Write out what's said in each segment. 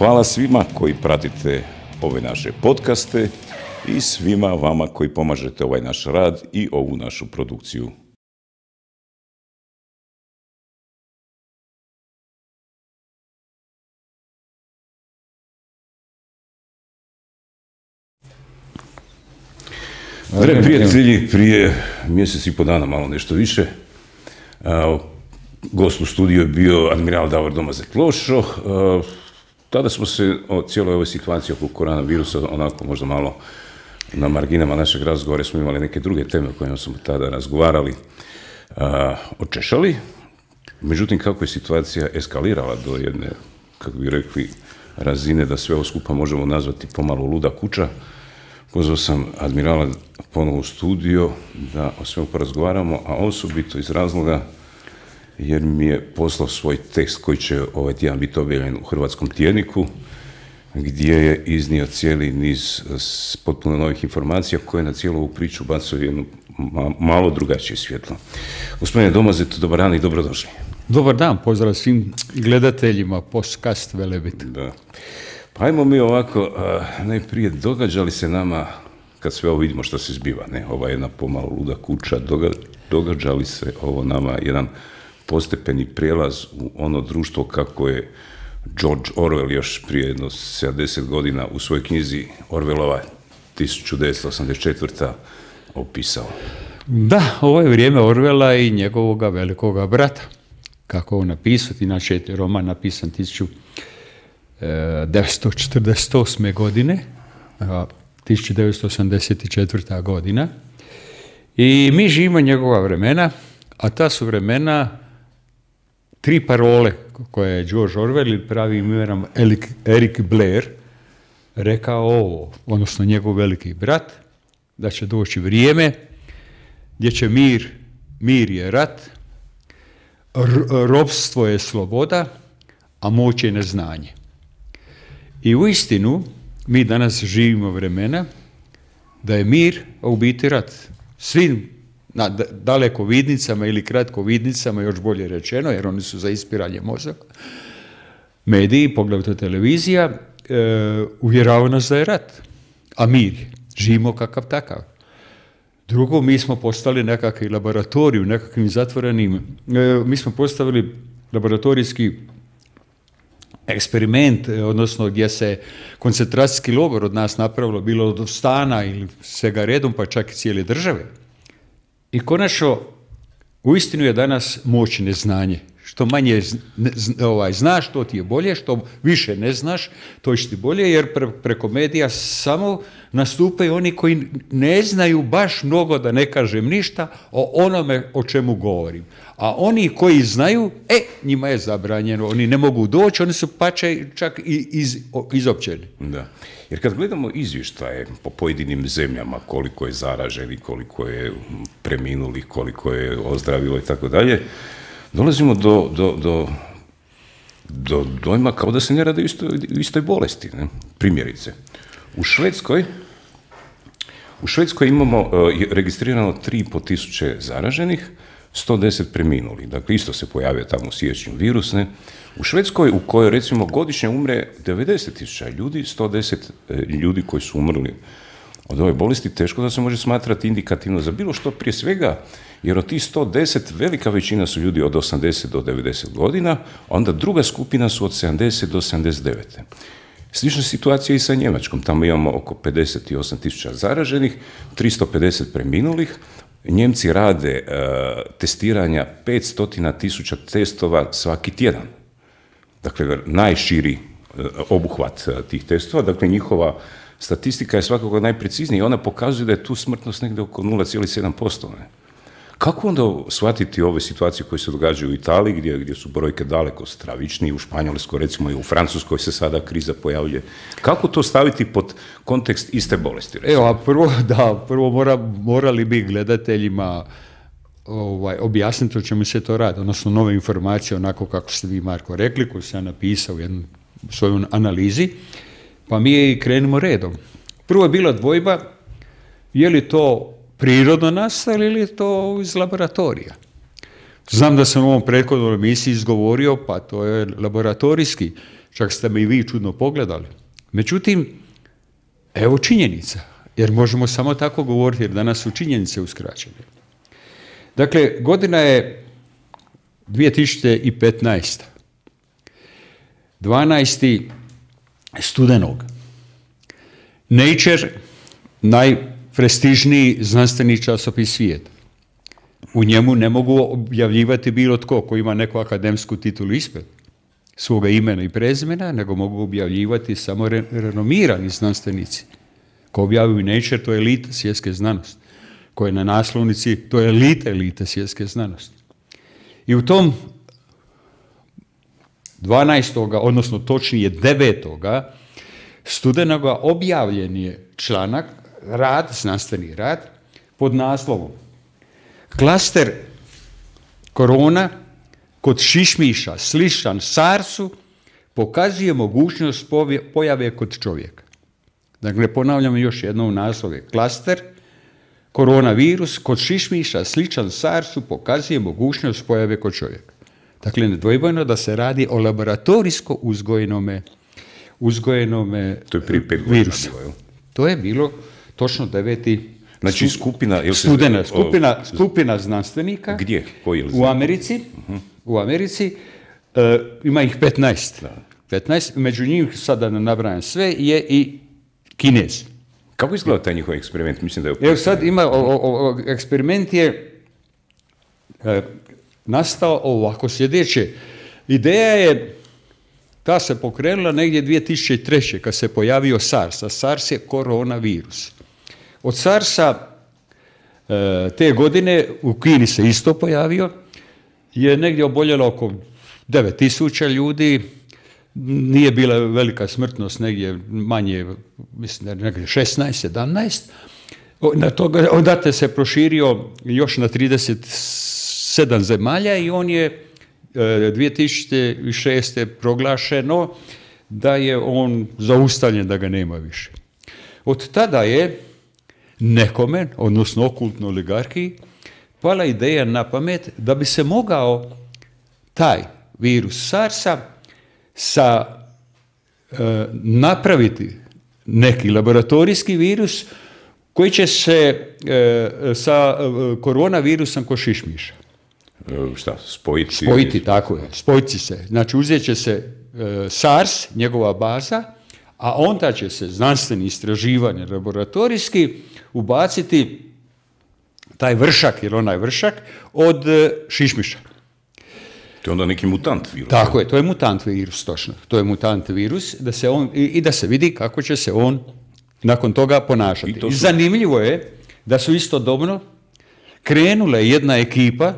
Hvala svima koji pratite ove naše podcaste i svima vama koji pomažete ovaj naš rad i ovu našu produkciju. Dragi prijatelji, prije mjesec i po dana, malo nešto više, gost u studiju je bio admiral Davor Domazet-Lošo. Tada smo se o cijeloj ovoj situaciji oko koronavirusa, onako možda malo na marginama našeg razgovora, smo imali neke druge teme o kojima smo tada razgovarali, očešali. Međutim, kako je situacija eskalirala do jedne, kako bi rekli, razine da sve ovo skupa možemo nazvati pomalo luda kuća, pozvao sam admirala ponovo u studio da o svemu porazgovaramo, a osobito iz razloga jer mi je poslao svoj tekst koji će ovaj tjedan biti objavljen u Hrvatskom tjedniku, gdje je iznio cijeli niz potpuno novih informacija koje na cijelu ovu priču bacaju jedno malo drugačije svjetlo. Gospodine Domazet, dobar dan i dobrodošli. Dobar dan, pozdrav svim gledateljima podcast Velebit. Da. Pa ajmo mi ovako, najprije, događa li se nama, kad sve ovo vidimo što se zbiva, ne, ova jedna pomalo luda kuća, događa li se ovo nama jedan postepeni prijelaz u ono društvo kako je George Orwell još prije jedno 70 godina u svojoj knjizi Orwellova 1984. opisao? Da, ovo je vrijeme Orwella i njegovoga velikoga brata. Kako on napisao, inače je roman napisan 1948. godine, 1984. godina. I mi živimo njegova vremena, a ta su vremena tri parole koje je George Orwell ili pravim imenom Eric Blair rekao ovo, odnosno njegov veliki brat, da će doći vrijeme gdje će mir je rat, ropstvo je sloboda, a moć je neznanje. I uistinu, mi danas živimo vremena da je mir, a u biti rat. Svim na dalekovidnicama ili kratkovidnicama, još bolje rečeno, jer oni su za ispiranje mozaka, mediji, poglavito televizija, uvjeravaju nas da je rat, a mir, živimo kakav takav. Drugo, mi smo postali nekakvi laboratorij, nekakvim zatvorenim, mi smo postavili laboratorijski eksperiment, odnosno gdje se koncentracijski logor od nas napravilo, bilo od stana ili svega redom, pa čak i cijele države. I konačno, uistinu je danas moć neznanje. Što manje znaš, to ti je bolje, što više ne znaš, to će ti bolje, jer preko medija samo nastupaju oni koji ne znaju baš mnogo, da ne kažem ništa, o onome o čemu govorim. A oni koji znaju, njima je zabranjeno, oni ne mogu doći, oni su čak i izopćeni. Da. Jer kad gledamo izvještaje po pojedinim zemljama, koliko je zaraženih, koliko je preminulih, koliko je ozdravilo i tako dalje, dolazimo do dojma kao da se ne radi o istoj bolesti. Ne? Primjerice, u Švedskoj imamo registrirano 3.500 zaraženih, 110 preminuli. Dakle, isto se pojavio tamo u siječnju virus. Ne? U Švedskoj, u kojoj recimo godišnje umre 90.000 ljudi, 110 ljudi koji su umrli od ove bolesti, teško da se može smatrati indikativno za bilo što, prije svega, jer od tih 110 velika većina su ljudi od 80 do 90 godina, onda druga skupina su od 70 do 79. Slična situacija i sa Njemačkom, tamo imamo oko 58.000 zaraženih, 350 preminulih. Njemci rade testiranja 500.000 testova svaki tjedan. Dakle, najširi obuhvat tih testova, dakle njihova statistika je svakako najpreciznija i ona pokazuje da je tu smrtnost negdje oko 0,7%. Ne? Kako onda shvatiti ove situacije koje se događaju u Italiji, gdje su brojke daleko stravičnije, u Španjolskoj, recimo i u Francuskoj se sada kriza pojavljuje? Kako to staviti pod kontekst iste bolesti? Recimo? Evo, prvo morali bi gledateljima objasniti o čemu se to radi, odnosno nove informacije, onako kako ste vi, Marko, rekli, koju sam napisao u jednom svojoj analizi, pa mi krenemo redom. Prvo je bila dvojba, je li to prirodno nastalo ili je to iz laboratorija. Znam da sam u ovom prethodnom emisiji izgovorio, pa to je laboratorijski. Čak ste me i vi čudno pogledali. Međutim, evo činjenica, jer možemo samo tako govoriti, jer danas su činjenice uskraćene. Dakle, godina je 2015. 12. studenog. Nature, najprestižniji znanstveni časopis svijeta. U njemu ne mogu objavljivati bilo tko ko ima neku akademsku titulu ispred svoga imena i prezimena, nego mogu objavljivati samo renomirani znanstvenici. Ko objavljuju Nature, to je elita svjetske znanosti. Ko je na naslovnici, to je elita svjetske znanosti. I u tom 12. odnosno točnije 9. studenoga objavljen je članak, znanstveni rad, pod naslovom Klaster korona kod šišmiša sličan SARS-u pokazuje mogućnost pojave kod čovjeka. Dakle, ponavljamo još jednom naslove. Klaster koronavirus kod šišmiša sličan SARS-u pokazuje mogućnost pojave kod čovjeka. Dakle, nedvojbeno da se radi o laboratorijsko uzgojenome to je prije 5 virusa. Bilo, to je bilo točno 9. Znači skupina znanstvenika. Gdje? Koji u Americi. U Americi ima ih 15. Da. 15. Među njih, sada ne nabrajam sve, je i Kinez. Kako izgleda taj njihov eksperiment? Mislim da je evo sad ima, eksperiment je nastao ovako sljedeće. Ideja je, ta se pokrenula negdje 2003. kad se pojavio SARS, a SARS je koronavirus. Od SARS-a te godine u Kini se isto pojavio, je negdje oboljelo oko 9.000 ljudi, nije bila velika smrtnost, negdje manje, mislim da negdje 16, 17. Onda se proširio još na 37 zemalja i on je 2006. proglašeno da je on zaustavljen, da ga nema više. Od tada je nekome, odnosno okultnoj oligarhiji, pala ideja na pamet da bi se mogao taj virus SARS-a napraviti neki laboratorijski virus koji će se sa koronavirusom kod šišmiša. Šta, spojiti? Spojiti, tako je, spojiti se. Znači, uzet će se SARS, njegova baza, a onda će se znanstveni istraživanje laboratorijski ubaciti taj vršak, ili onaj vršak, od šišmiša. To je onda neki mutant virus. Tako je, to je mutant virus, točno. To je mutant virus da se vidi kako će se on nakon toga ponašati. I zanimljivo je da su istodobno krenule jedna ekipa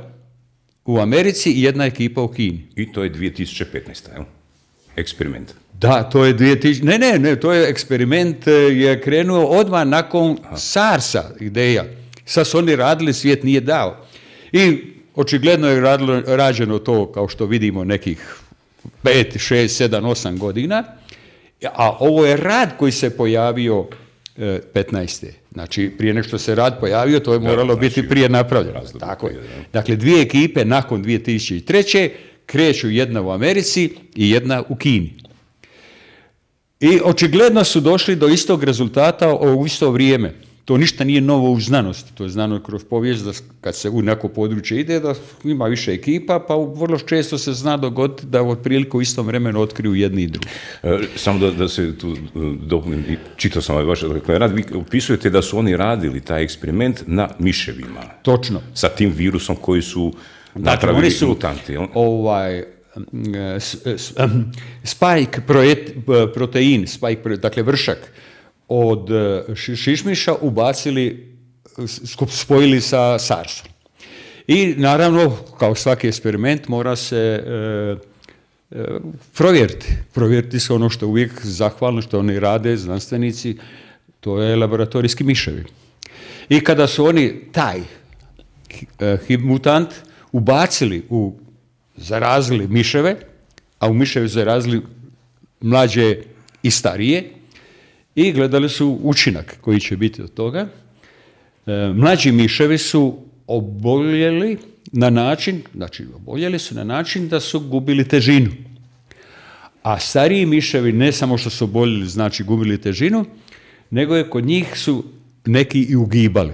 u Americi i jedna ekipa u Kini. I to je 2015. Jel? Eksperiment. Da, to je Ne, to je eksperiment je krenuo odmah nakon SARS-a ideja. Sad su oni radili, svijet nije dao. I očigledno je rađeno to, kao što vidimo, nekih 5, 6, 7, 8 godina, a ovo je rad koji se pojavio 15. Znači, prije nego što se rad pojavio, to je moralo biti prije napravljeno. Tako je. Dakle, dvije ekipe nakon 2003. kreću, jedna u Americi i jedna u Kini. I očigledno su došli do istog rezultata u isto vrijeme. To ništa nije novo u znanosti, to je znano kroz povijest da kad se u neko područje ide da ima više ekipa, pa vrlo često se zna dogoditi da otprilike u istom vremenu otkriju jedni i drugi. Samo da se tu dopunim, čitao sam ovaj vaš rad, vi opisujete da su oni radili taj eksperiment na miševima. Točno. Sa tim virusom koji su napravili mutanti. Spike protein, dakle vršak, od šišmiša ubacili, spojili sa SARS-om. I naravno, kao svaki eksperiment, mora se provjeriti. Provjeriti se ono što uvijek zahvalno, što oni rade, znanstvenici, to je laboratorijski miševi. I kada su oni taj mutant ubacili zarazili miševe, a u miševe zarazili mlađe i starije, i gledali su učinak koji će biti od toga. Mlađi miševi su oboljeli na način da su gubili težinu. A stariji miševi ne samo što su oboljeli, znači gubili težinu, nego je kod njih su neki i ugibali.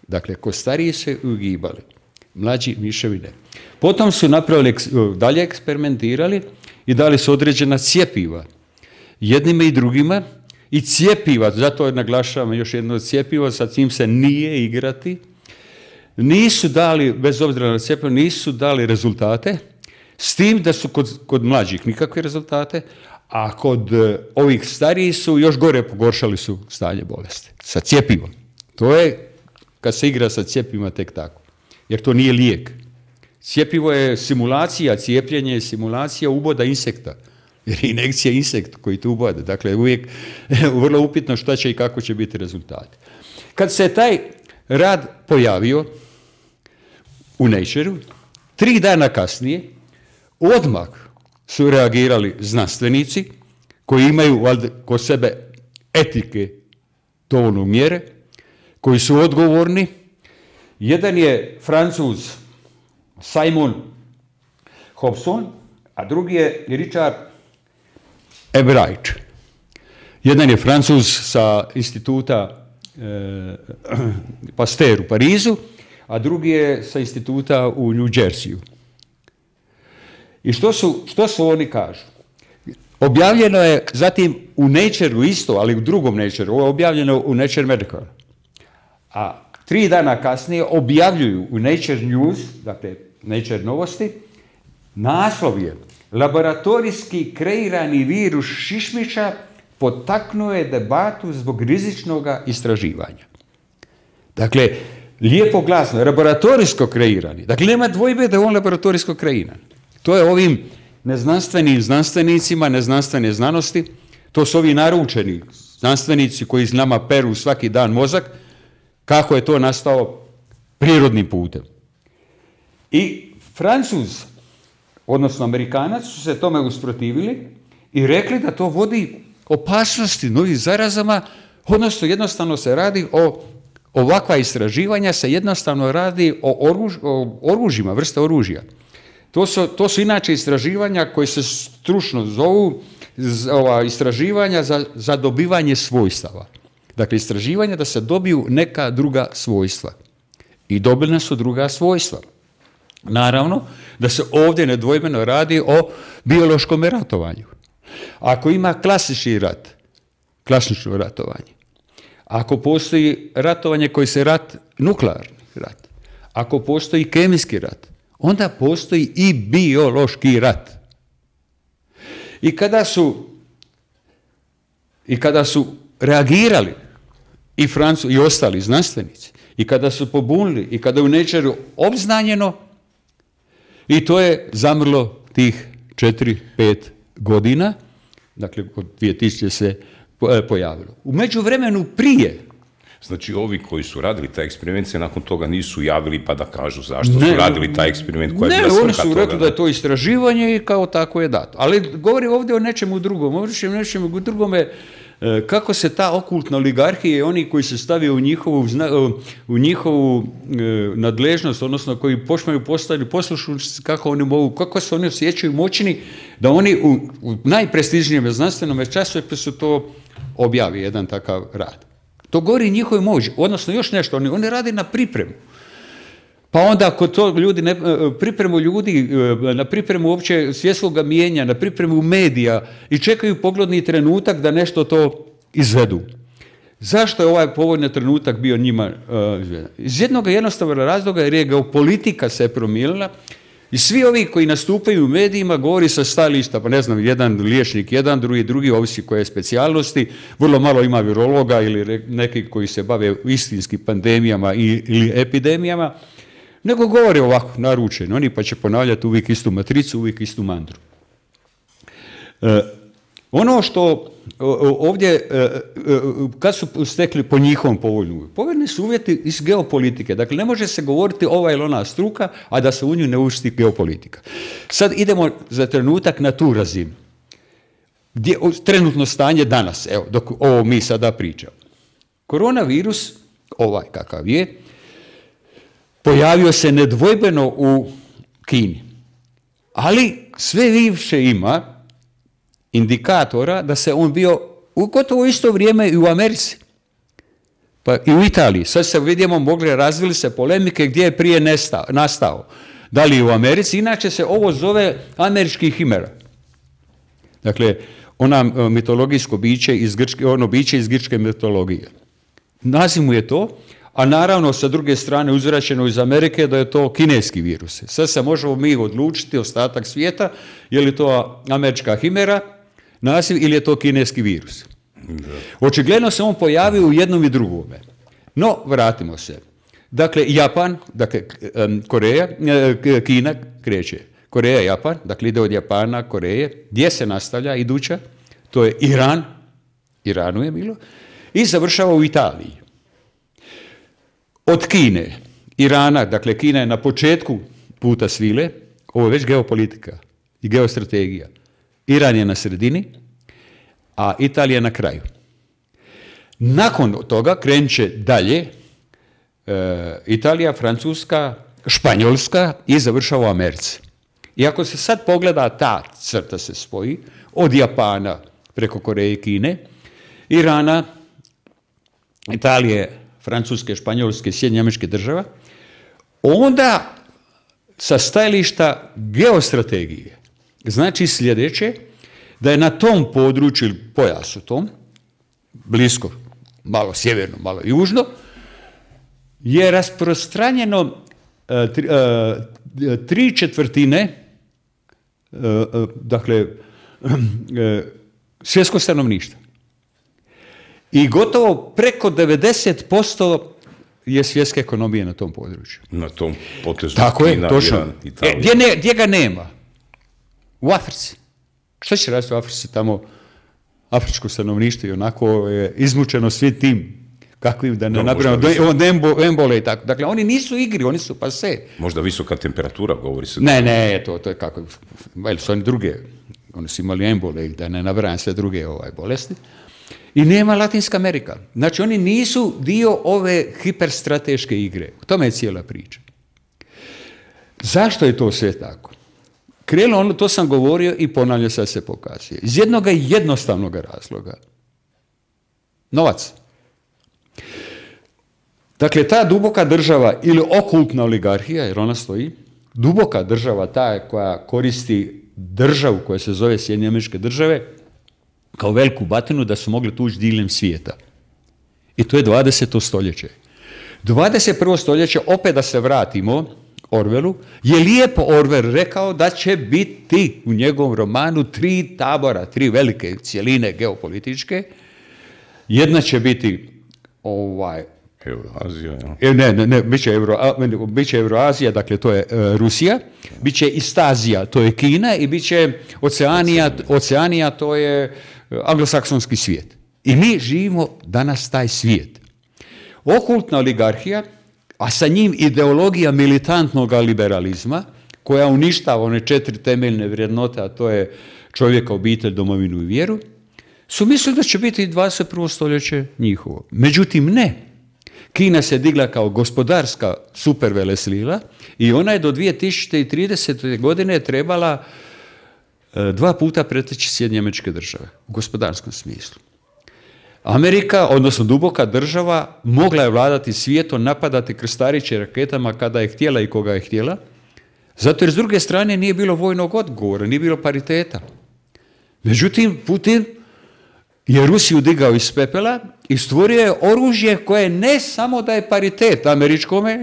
Dakle, kod stariji se ugibali, mlađi miševi ne. Potom su napravili, dalje eksperimentirali i dali su određena cjepiva jednima i drugima, i cjepiva, zato naglašavam još jedno cjepivo, sa tim se nije igrati, nisu dali, bez obzira na cjepivo, nisu dali rezultate, s tim da su kod mlađih nikakve rezultate, a kod ovih starijih su još gore pogoršali su stanje bolesti. Sa cjepivom. To je kad se igra sa cjepivima tek tako. Jer to nije lijek. Cjepivo je simulacija, cijepljenje je simulacija uboda insekta. Jer je injekcija insekt koji tu ubode. Dakle, uvijek vrlo upitno šta će i kako će biti rezultati. Kad se taj rad pojavio u Nature-u, 3 dana kasnije, odmah su reagirali znanstvenici koji imaju kod sebe etike dovoljno mjere, koji su odgovorni. Jedan je Francuz Simon Hobson, a drugi je Richard Ebright. Jedan je Francuz sa instituta Pasteur u Parizu, a drugi je sa instituta u New Jerseyu. I što su oni kažu? Objavljeno je zatim u Nature-u isto, ali u drugom Nature-u, ovo je objavljeno u Nature Medical. A 3 dana kasnije objavljuju u Nature News, dakle Nature novosti, naslov je laboratorijski kreirani virus šišmiša potaknuo je debatu zbog rizičnog istraživanja. Dakle, lijepo glasno, laboratorijsko kreirani. Dakle, nema dvojbe da je on laboratorijsko kreiran. To je ovim neznanstvenim znanstvenicima, neznanstvene znanosti, to su ovi naručeni znanstvenici koji nama peru svaki dan mozak, kako je to nastao prirodnim putem. I Francuz, odnosno Amerikanac, su se tome usprotivili i rekli da to vodi opasnosti novih zarazama, odnosno jednostavno se radi o ovakva istraživanja, se jednostavno radi o oružjima, vrste oružja. To su inače istraživanja koje se stručno zovu istraživanja za dobivanje svojstava. Dakle, istraživanja da se dobiju neka druga svojstva. I dobili su druga svojstva. Naravno, da se ovdje nedvojbeno radi o biološkom ratovanju. Ako ima klasični rat, klasično ratovanje, ako postoji ratovanje koji se nuklearni rat, ako postoji kemijski rat, onda postoji i biološki rat. I kada su reagirali i ostali znanstvenici, i kada su pobunili, i kada je u Nature-u obznanjeno, i to je zamrlo tih 4-5 godina, dakle od 2000 se pojavilo. U međuvremenu prije. Znači, ovi koji su radili taj eksperiment se nakon toga nisu javili pa da kažu zašto su radili taj eksperiment koja je bila svrha toga. Ne, oni su rekli da je to istraživanje i kao tako je dato. Ali govori ovdje o nečemu drugom. Ovdje o nečemu drugome kako se ta okultna oligarhija i oni koji se stavio u njihovu nadležnost, odnosno koji postaju poslušnici, kako se oni osjećaju moćni, da oni u najprestižnijem znanstvenom časopisu to objavi jedan takav rad. To govori njihovoj moći, odnosno još nešto, oni rade na pripremu. Pa onda ako to pripremu ljudi, na pripremu uopće svjetskog mijenja, na pripremu medija i čekaju pogodni trenutak da nešto to izvedu. Zašto je ovaj povoljni trenutak bio njima izveden? Iz jednog jednostavnog razloga jer je geopolitika se promijenila i svi ovi koji nastupaju u medijima govori sa stajališta, pa ne znam, jedan liječnik, jedan, drugi, ovisi koje je specijalnosti, vrlo malo ima virologa ili neki koji se bave istinskim pandemijama ili epidemijama, nego govore ovako, naručeno, oni pa će ponavljati uvijek istu matricu, uvijek istu mantru. Ono što ovdje, kad su stekli po njihovom povoljni su uvjeti iz geopolitike. Dakle, ne može se govoriti ova ili ona struka, a da se u nju ne uvrsti geopolitika. Sad idemo za trenutak na tu razinu. Trenutno stanje danas, evo, dok ovo mi sada pričamo. Koronavirus, ovaj kakav je, pojavio se nedvojbeno u Kini. Ali sve više ima indikatora da se on bio u gotovo isto vrijeme i u Americi. Pa i u Italiji. Sad se vidimo, razvili se polemike gdje je prije nastao. Da li u Americi? Inače se ovo zove američki himera. Dakle, ona mitologijsko biće iz grčke, ono biće iz grčke mitologije. Naziv mu je to, a naravno sa druge strane uzvraćeno iz Amerike da je to kineski virus. Sad se možemo mi odlučiti, ostatak svijeta, je li to američka himera naziv ili je to kineski virus. Očigledno se on pojavio u jednom i drugome. No, vratimo se. Dakle, Japan, dakle, Koreja, Kina kreće. Koreja, Japan, dakle ide od Japana, Koreje. Gdje se nastavlja iduća? To je Iran, Iranu je bilo, i završava u Italiji. Od Kine, Irana, dakle Kina je na početku puta svile, ovo je već geopolitika i geostrategija. Iran je na sredini, a Italija na kraju. Nakon toga krenut će dalje Italija, Francuska, Španjolska i završava u Americi. I ako se sad pogleda, ta crta se spoji od Japana preko Koreje i Kine, Irana, Italije, Francuske, Španjolske, Sjedinjenih Američkih Država, onda sa stajališta geostrategije znači sljedeće, da je na tom području ili pojasu tom, blisko, malo sjeverno, malo južno, je rasprostranjeno 3/4 dakle svjetskog stanovništva. I gotovo preko 90% je svjetske ekonomije na tom području. Na tom potezu. Tako je, točno. Iran, Italija. Gdje ga nema? U Africi. Što će raditi u Africi? Tamo afričko stanovništvo i onako je izmučeno svi tim kakvim, da ne napravimo embole i tako. Dakle, oni nisu igri, oni su pase. Možda visoka temperatura, govori se. Ne, to je kako, su oni druge, oni su imali embole, da ne nabrajam sve druge bolesti. I nema Latinska Amerika. Znači, oni nisu dio ove hiperstrateške igre. O tome je cijela priča. Zašto je to sve tako? Krenulo, to sam govorio i ponavljam, sad se pokazuje. Iz jednog jednostavnog razloga. Novac. Dakle, ta duboka država ili okultna oligarhija, jer ona stoji, duboka država, ta koja koristi državu koja se zove Sjedinjene Američke Države, kao veliku batinu da su mogli tući diljem svijeta. I to je 20. stoljeće. 21. stoljeće, opet da se vratimo Orwellu, je lijepo Orwell rekao da će biti u njegovom romanu 3 tabora, 3 velike cjeline geopolitičke. Jedna će biti Euroazija. Ne, bit će Euroazija, dakle to je Rusija, bit će Istazija, to je Kina, i bit će Oceanija, to je anglosaksonski svijet. I mi živimo danas taj svijet. Okultna oligarhija, a sa njim ideologija militantnog liberalizma, koja uništava one 4 temeljne vrijednote, a to je čovjeka, obitelj, domovinu i vjeru, su mislili da će biti 21. stoljeće njihovo. Međutim, ne. Kina se digla kao gospodarska superveleslila i ona je do 2030. godine trebala 2 puta preteći Sjedinjene Američke Države u gospodarskom smislu. Amerika, odnosno duboka država, mogla je vladati svijetom, napadati krstariće raketama kada je htjela i koga je htjela, zato jer s druge strane nije bilo vojnog odgovora, nije bilo pariteta. Međutim, Putin je Rusiju digao iz pepela i stvorio je oružje koje ne samo da je paritet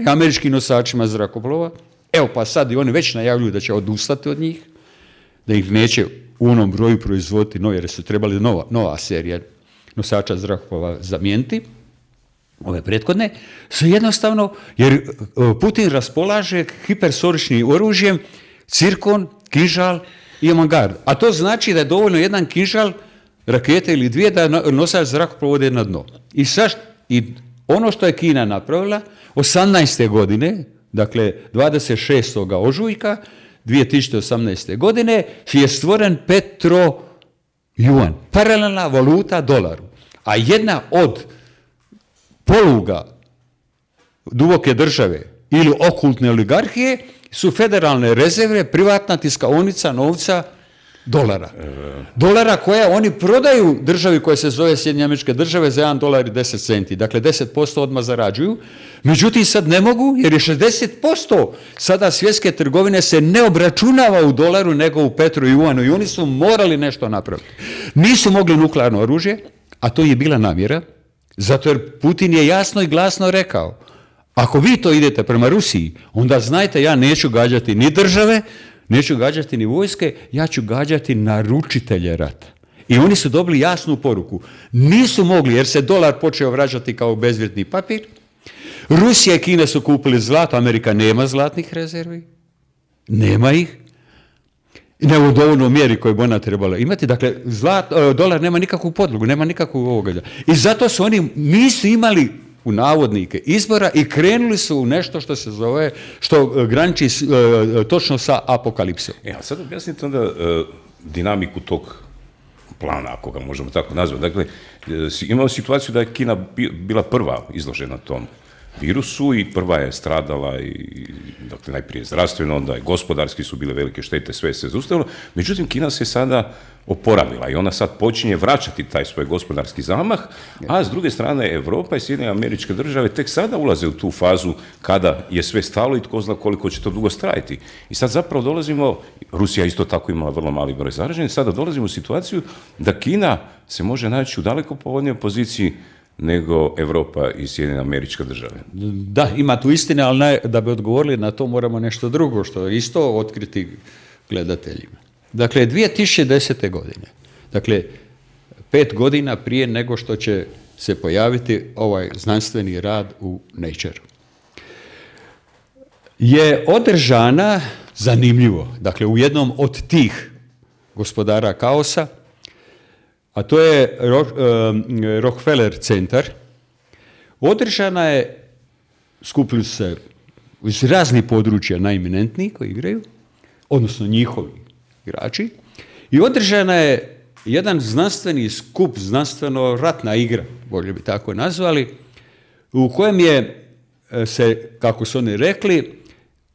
američkim nosačima zrakoplova, evo pa sad i oni već najavljuju da će odustati od njih, da ih neće u onom broju proizvoditi novi, jer su trebali nova serija nosača zrakoplova zamijeniti, ove prethodne, su jednostavno, jer Putin raspolaže hipersoničnim oružjem, cirkon, kinžal i avangard. A to znači da je dovoljno jedan kinžal, rakete ili 2 da nosač zrakoplova ode na dno. I ono što je Kina napravila, 18. godine, dakle 26. ožujka 2018. godine, je stvoren Petro-Juan, paralelna valuta dolaru. A jedna od poluga duboke države ili okultne oligarhije su federalne rezerve, privatna tiskaonica novca dolara. Dolara koja oni prodaju državi koja se zove Sjedinjene Američke Države za $1.10. Dakle, 10% odmah zarađuju. Međutim, sad ne mogu jer je 60% sada svjetske trgovine se ne obračunava u dolaru nego u petru i juanu i oni su morali nešto napraviti. Nisu mogli nuklearno oružje, a to je bila namjera, zato jer Putin je jasno i glasno rekao, ako vi to idete prema Rusiji, onda znajte, ja neću gađati ni države, neću gađati ni vojske, ja ću gađati naručitelje rata. I oni su dobili jasnu poruku. Nisu mogli jer se dolar počeo vraćati kao bezvrijedni papir. Rusija i Kina su kupili zlato, Amerika nema zlatnih rezervi. Nema ih. Ne u dovoljnoj mjeri koju bi ona trebala imati. Dakle, dolar nema nikakvu podlogu, nema nikakvog ovoga. I zato su oni nisu imali u navodnike izbora i krenuli su u nešto što se zove, što graniči točno sa apokalipsom. A sad objasnite onda dinamiku tog plana, ako ga možemo tako nazvati. Dakle, imamo situaciju da je Kina bila prva izložena tom virusu i prva je stradala i dakle, najprije zdravstveno, onda i gospodarski su bile velike štete, sve se zaustavilo. Međutim, Kina se sada oporavila i ona sad počinje vraćati taj svoj gospodarski zamah, a s druge strane Europa i Sjedinjene Američke Države tek sada ulaze u tu fazu kada je sve stalo i tko zna koliko će to dugo trajati. I sad zapravo dolazimo, Rusija isto tako imala vrlo mali broj zaraženih, sada dolazimo u situaciju da Kina se može naći u daleko povoljnijoj poziciji nego Europa i Sjedinjene Američke Države. Da, ima tu istine, ali da bi odgovorili na to moramo nešto drugo, što je isto otkriti gledateljima. Dakle, 2010. godine, dakle, 5 godina prije nego što će se pojaviti ovaj znanstveni rad u Nature, je održana, zanimljivo, dakle, u jednom od tih gospodara kaosa, a to je Rockefeller centar, održana je, skupili su se iz raznih područja najeminentniji koji igraju, odnosno njihovi igrači, i održana je jedan znanstveni skup, znanstveno-ratna igra, bolje bi tako nazvali, u kojem je se, kako su oni rekli,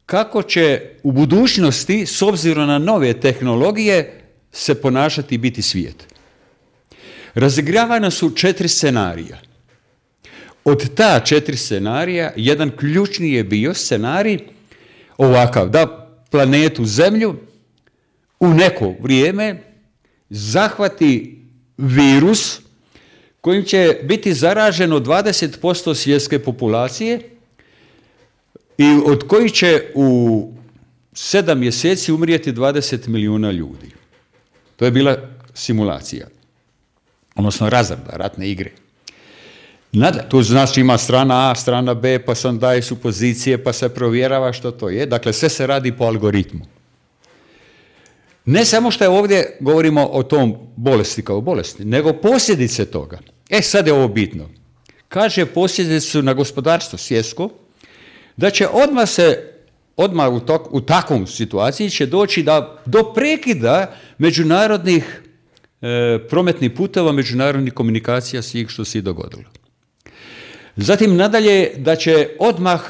kako će u budućnosti, s obzirom na nove tehnologije, se ponašati i biti svijet. Razigravana su 4 scenarija. Od ta 4 scenarija, jedan ključni je bio scenarij ovakav, da planetu Zemlju u neko vrijeme zahvati virus kojim će biti zaraženo 20% svjetske populacije i od kojih će u 7 mjeseci umrijeti 20 milijuna ljudi. To je bila simulacija, odnosno razrada ratne igre. Tu znači ima strana A, strana B, pa se daje su pozicije, pa se provjerava što to je. Dakle, sve se radi po algoritmu. Ne samo što je ovdje govorimo o tom bolesti kao bolesti, nego posljedice toga. Sad je ovo bitno. Kaže posljedice su na gospodarstvo svjetsko, da će odmah u takvom situaciji će doći do prekida međunarodnih prometnih puteva, međunarodnih komunikacija, svih što se i dogodilo. Zatim nadalje da će odmah,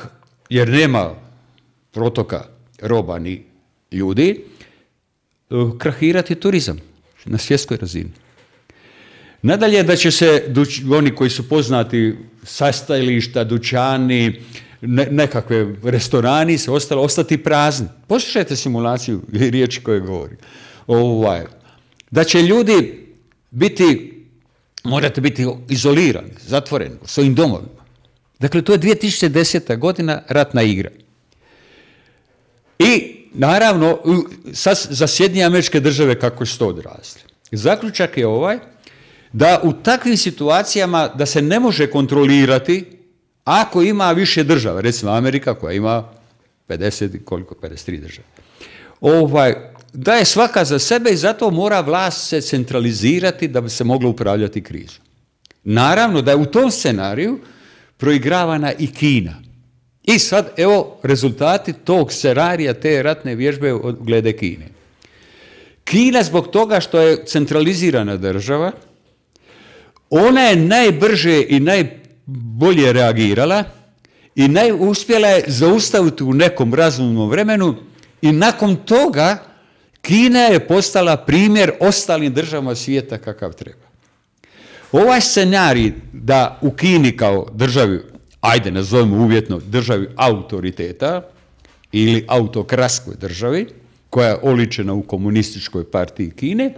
jer nema protoka roba ni ljudi, krahirati turizam na svjetskoj razini. Nadalje da će se oni koji su poznati sastajališta, dućani, nekakve restorani se ostati prazni. Poslušajte simulaciju i riječi koje govori. Da će ljudi morate biti izolirani, zatvoreni u svojim domovima. Dakle, to je 2010. godina ratna igra. I naravno, za Sjedinjene Američke Države kako su to odrazili. Zaključak je da u takvim situacijama da se ne može kontrolirati ako ima više država, recimo Amerika koja ima 53 države. Da je svaka za sebe i zato mora vlast se centralizirati da bi se moglo upravljati krizom. Naravno da je u tom scenariju proigravana i Kina. I sad, evo, rezultati tog scenarija, te ratne vježbe glede Kine. Kina zbog toga što je centralizirana država, ona je najbrže i najbolje reagirala i uspjela je zaustaviti u nekom razumnom vremenu i nakon toga Kina je postala primjer ostalim državama svijeta kakav treba. Ovaj scenarij da u Kini kao državi, ajde nazovimo uvjetno državi autoriteta ili autokratskoj državi, koja je oličena u komunističkoj partiji Kine,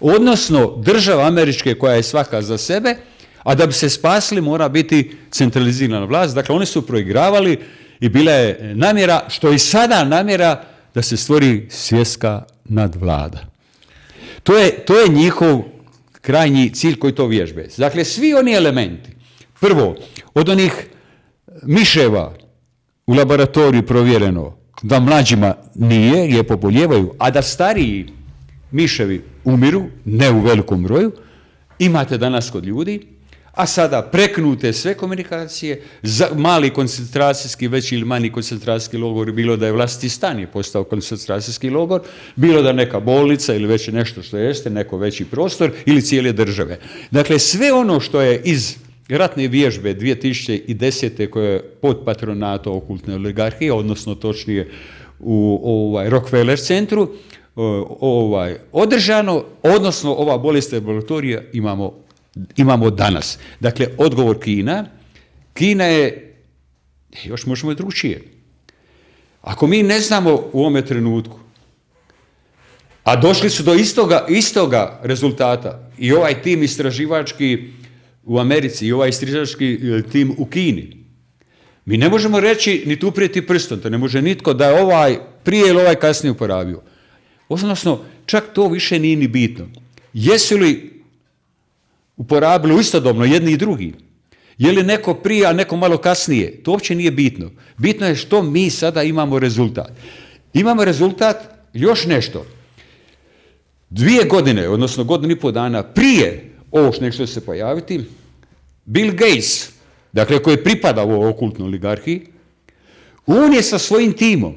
odnosno država američke koja je svaka za sebe, a da bi se spasili mora biti centralizirana vlast. Dakle, oni su proigravali i bila je namjera, što i sada namjera, da se stvori svjetska nadvlada. To je njihov krajnji cilj koji to vježbe. Dakle, svi oni elementi, prvo, od onih miševa u laboratoriju provjereno da mlađima nije, je poboljevaju, a da stariji miševi umiru, ne u velikom broju, imate danas kod ljudi, a sada preknute sve komunikacije, mali koncentracijski, veći ili manji koncentracijski logor, bilo da je vlastiti stan je postao koncentracijski logor, bilo da neka bolnica ili već nešto što jeste, neko veći prostor ili cijele države. Dakle, sve ono što je iz ratne vježbe 2010. koje je pod patronatom okultne oligarhije, odnosno točnije u Rockefeller centru, održano, odnosno ova bolest laboratorija imamo danas. Dakle, odgovor Kina je, još možemo i drugčije. Ako mi ne znamo u ovome trenutku, a došli su do istoga rezultata i ovaj tim istraživački u Americi i ovaj istraživački tim u Kini, mi ne možemo reći ni tu prijeti prstom, to ne može nitko da je ovaj prije ili ovaj kasnije uporabio. Odnosno, čak to više nije ni bitno. Jesu li uporabili istodobno jedni i drugi? Je li neko prije, a neko malo kasnije? To uopće nije bitno. Bitno je što mi sada imamo rezultat. Imamo rezultat još nešto. 2 godine, odnosno 1,5 dana prije ovo što će se pojaviti, Bill Gates, dakle koji pripada ovoj okultnoj oligarhiji, on je sa svojim timom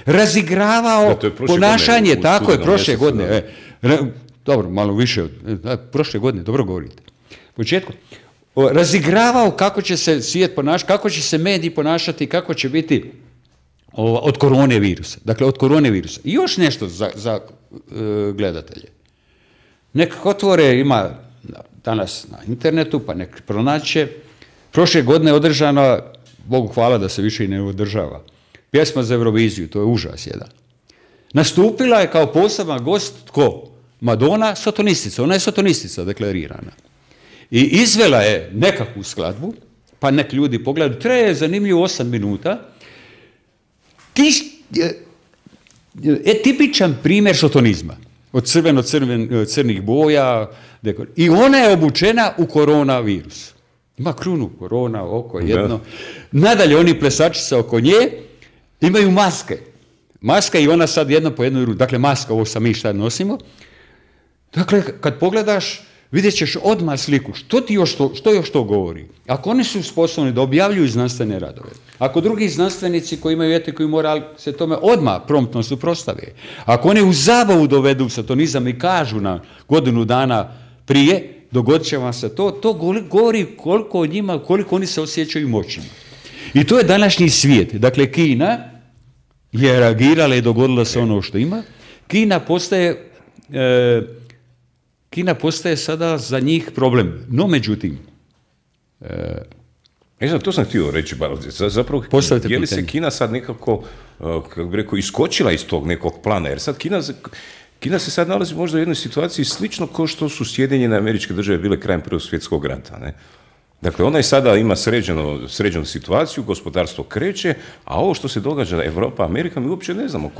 razigravao ponašanje, tako je, prošle godine, dobro, malo više, prošle godine, dobro govorite, početku, razigravao kako će se svijet ponašati, kako će se mediji ponašati, kako će biti od koronavirusa. Dakle, od koronavirusa. I još nešto za gledatelje. Nek otvore, ima danas na internetu, pa nek pronaće. Prošle godine je održana, Bogu hvala da se više i ne održava, pjesma za Euroviziju, to je užas jedan. Nastupila je kao poseban gost, tko? Madonna, sotonistica. Ona je sotonistica deklarirana. I izvela je nekakvu skladbu, pa nek ljudi pogledaju, traje zanimljivo 8 minuta. Tipičan primjer sotonizma. Od crnih boja. I ona je obučena u koronavirus. Ima krunu korona, oko jedno. Nadalje, oni plesačice oko nje imaju maske. Maska i ona sad jedno po jednoj ruci. Dakle, maska, ovo sam mi šta nosimo. Dakle, kad pogledaš, vidjet ćeš odmah sliku. Što još to govori? Ako oni su sposobni da objavljuju znanstvene radove, ako drugi znanstvenici koji imaju etiku i moral se tome odmah promptno suprotstave, ako oni u zabavu dovedu satanizam i kažu na 1 godinu dana prije, dogodit će vam se to govori koliko o njima, koliko oni se osjećaju moćnima. I to je današnji svijet. Dakle, Kina je reagirala i dogodilo se ono što ima. Kina postaje sada za njih problem. No, međutim... to sam htio reći, zapravo, je li se Kina sad nekako, kako bi rekao, iskočila iz tog nekog plana? Jer sad Kina se sad nalazi možda u jednoj situaciji slično kao što su Sjedinjene Američke Države bile krajem Prvog svjetskog rata, ne? Dakle, ona i sada ima sređenu situaciju, gospodarstvo kreće, a ovo što se događa Europa, Amerika, mi uopće ne znamo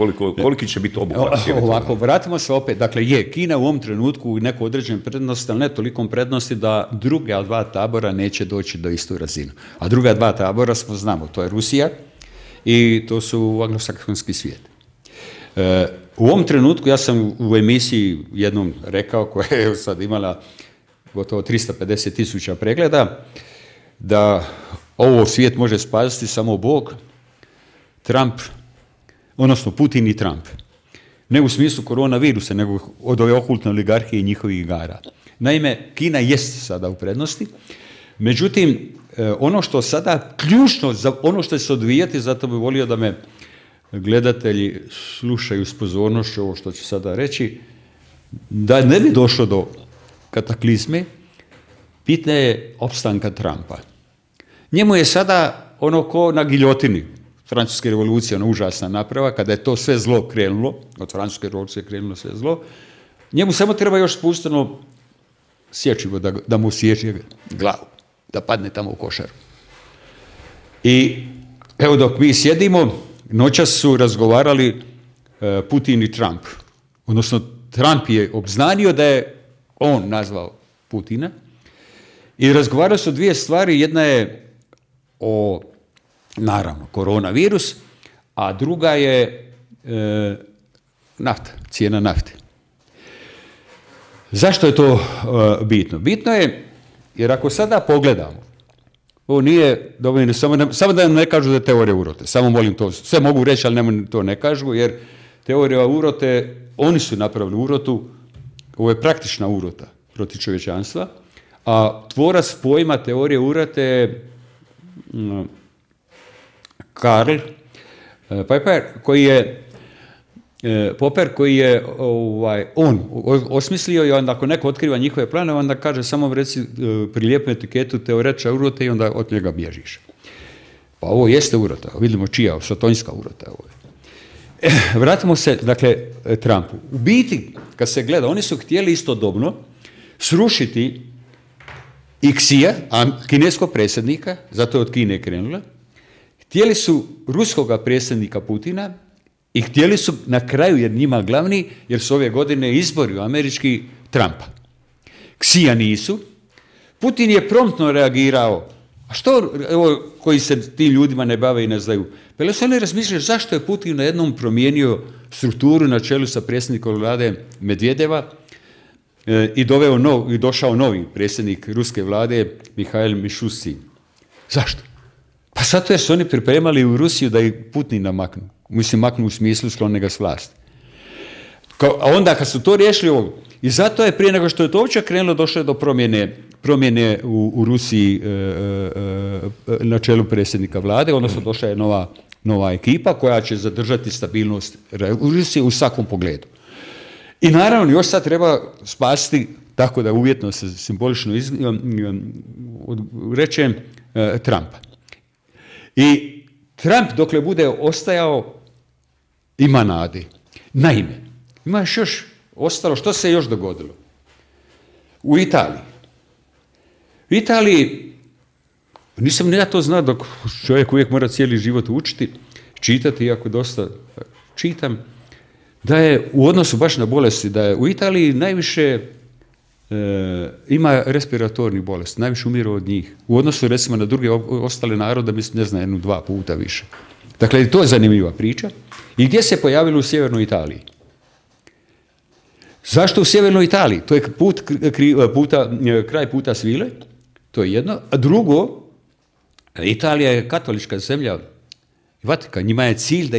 koliki će biti obuhvat. Ovako, vratimo se opet. Dakle, Kina u ovom trenutku u nekoj određenoj prednosti, ali ne tolikom prednosti da druga 2 tabora neće doći do istu razinu. A druga 2 tabora znamo, to je Rusija i to su anglosaksonski svijet. U ovom trenutku, ja sam u emisiji jednom rekao, koja je sad imala gotovo 350.000 pregleda, da ovo svijet može spasiti samo Bog, Trump, odnosno Putin i Trump. Ne u smislu koronavirusa, nego od ove okultne oligarhije i njihovih igara. Naime, Kina jest sada u prednosti, međutim, ono što sada ključno, ono što će se odvijati, zato bih volio da me gledatelji slušaju s pozornošću ovo što ću sada reći, da ne bi došlo do kataklizme, bitna je opstanka Trumpa. Njemu je sada ono ko na giljotini Francuske revolucije, ona užasna naprava, kada je to sve zlo krenulo, od Francuske revolucije krenulo sve zlo, njemu samo treba još spustiti ono sječivo da mu sječi glavu, da padne tamo u košaru. I evo dok mi sjedimo, noćas su razgovarali Putin i Trump. Odnosno, Trump je obznanio da je on nazvao Putina i razgovarali su dvije stvari. Jedna je o, naravno, koronavirus, a druga je nafta, cijena nafte. Zašto je to bitno? Bitno je jer ako sada pogledamo, ovo nije dovoljno, samo da nam ne kažu da je teorija urote, samo molim to, sve mogu reći, ali nema to ne kažu, jer teorija urote, oni su napravili urotu, ovo je praktična urota protiv čovječanstva, a tvorac pojma teorije urote je Karl Popper, koji je on osmislio, i onda ako neko otkriva njihove planove, onda kaže samo reci prilijepu etiketu teoretiča urote i onda od njega bježiš. Pa ovo jeste urota, vidimo čija, sotonjska urota. Vratimo se, dakle, Trumpu. U biti, kad se gleda, oni su htjeli istodobno srušiti i Xija, kineskog predsjednika, zato je od Kine krenula, htjeli su ruskoga predsjednika Putina i htjeli su na kraju, jer njima glavni, jer su ove godine izbori američki, Trumpa. Xija nisu. Putin je promptno reagirao. A što, evo, koji se tim ljudima ne bave i ne znaju? Pa li su oni razmišljali zašto je Putin na jednom promijenio strukturu na čelu sa predsjednikom vlade Medvedeva i došao novi predsjednik ruske vlade Mihail Mišustin. Zašto? Pa zato jer su oni pripremali u Rusiju da ih Putina maknu. Mislim, maknu u smislu sklone ga s vlasti. A onda kad su to riješili ovo, i zato je prije nego što je to uopće krenulo, došlo je do promjene u Rusiji na čelu predsjednika vlade, odnosno došla je nova ekipa koja će zadržati stabilnost u Rusiji u svakom pogledu. I naravno još sad treba spasiti, tako da uvjetno se simbolično rečem, Trumpa. I Trump dokle bude ostajao ima nade. Naime, ima još ostalo, što se još dogodilo? U Italiji, nisam ni ja to znao, dok čovjek uvijek mora cijeli život učiti, čitati, iako dosta čitam, da je u odnosu baš na bolesti, da je u Italiji najviše ima respiratornih bolesti, najviše umiru od njih. U odnosu, recimo, na druge ostale narode, mislim, ne znam, 1-2 puta više. Dakle, to je zanimljiva priča. I gdje se pojavilo u sjevernoj Italiji? Zašto u sjevernoj Italiji? To je kraj puta svile, to je jedno. A drugo, Italija je katolička zemlja, Vatikan, njima je cilj da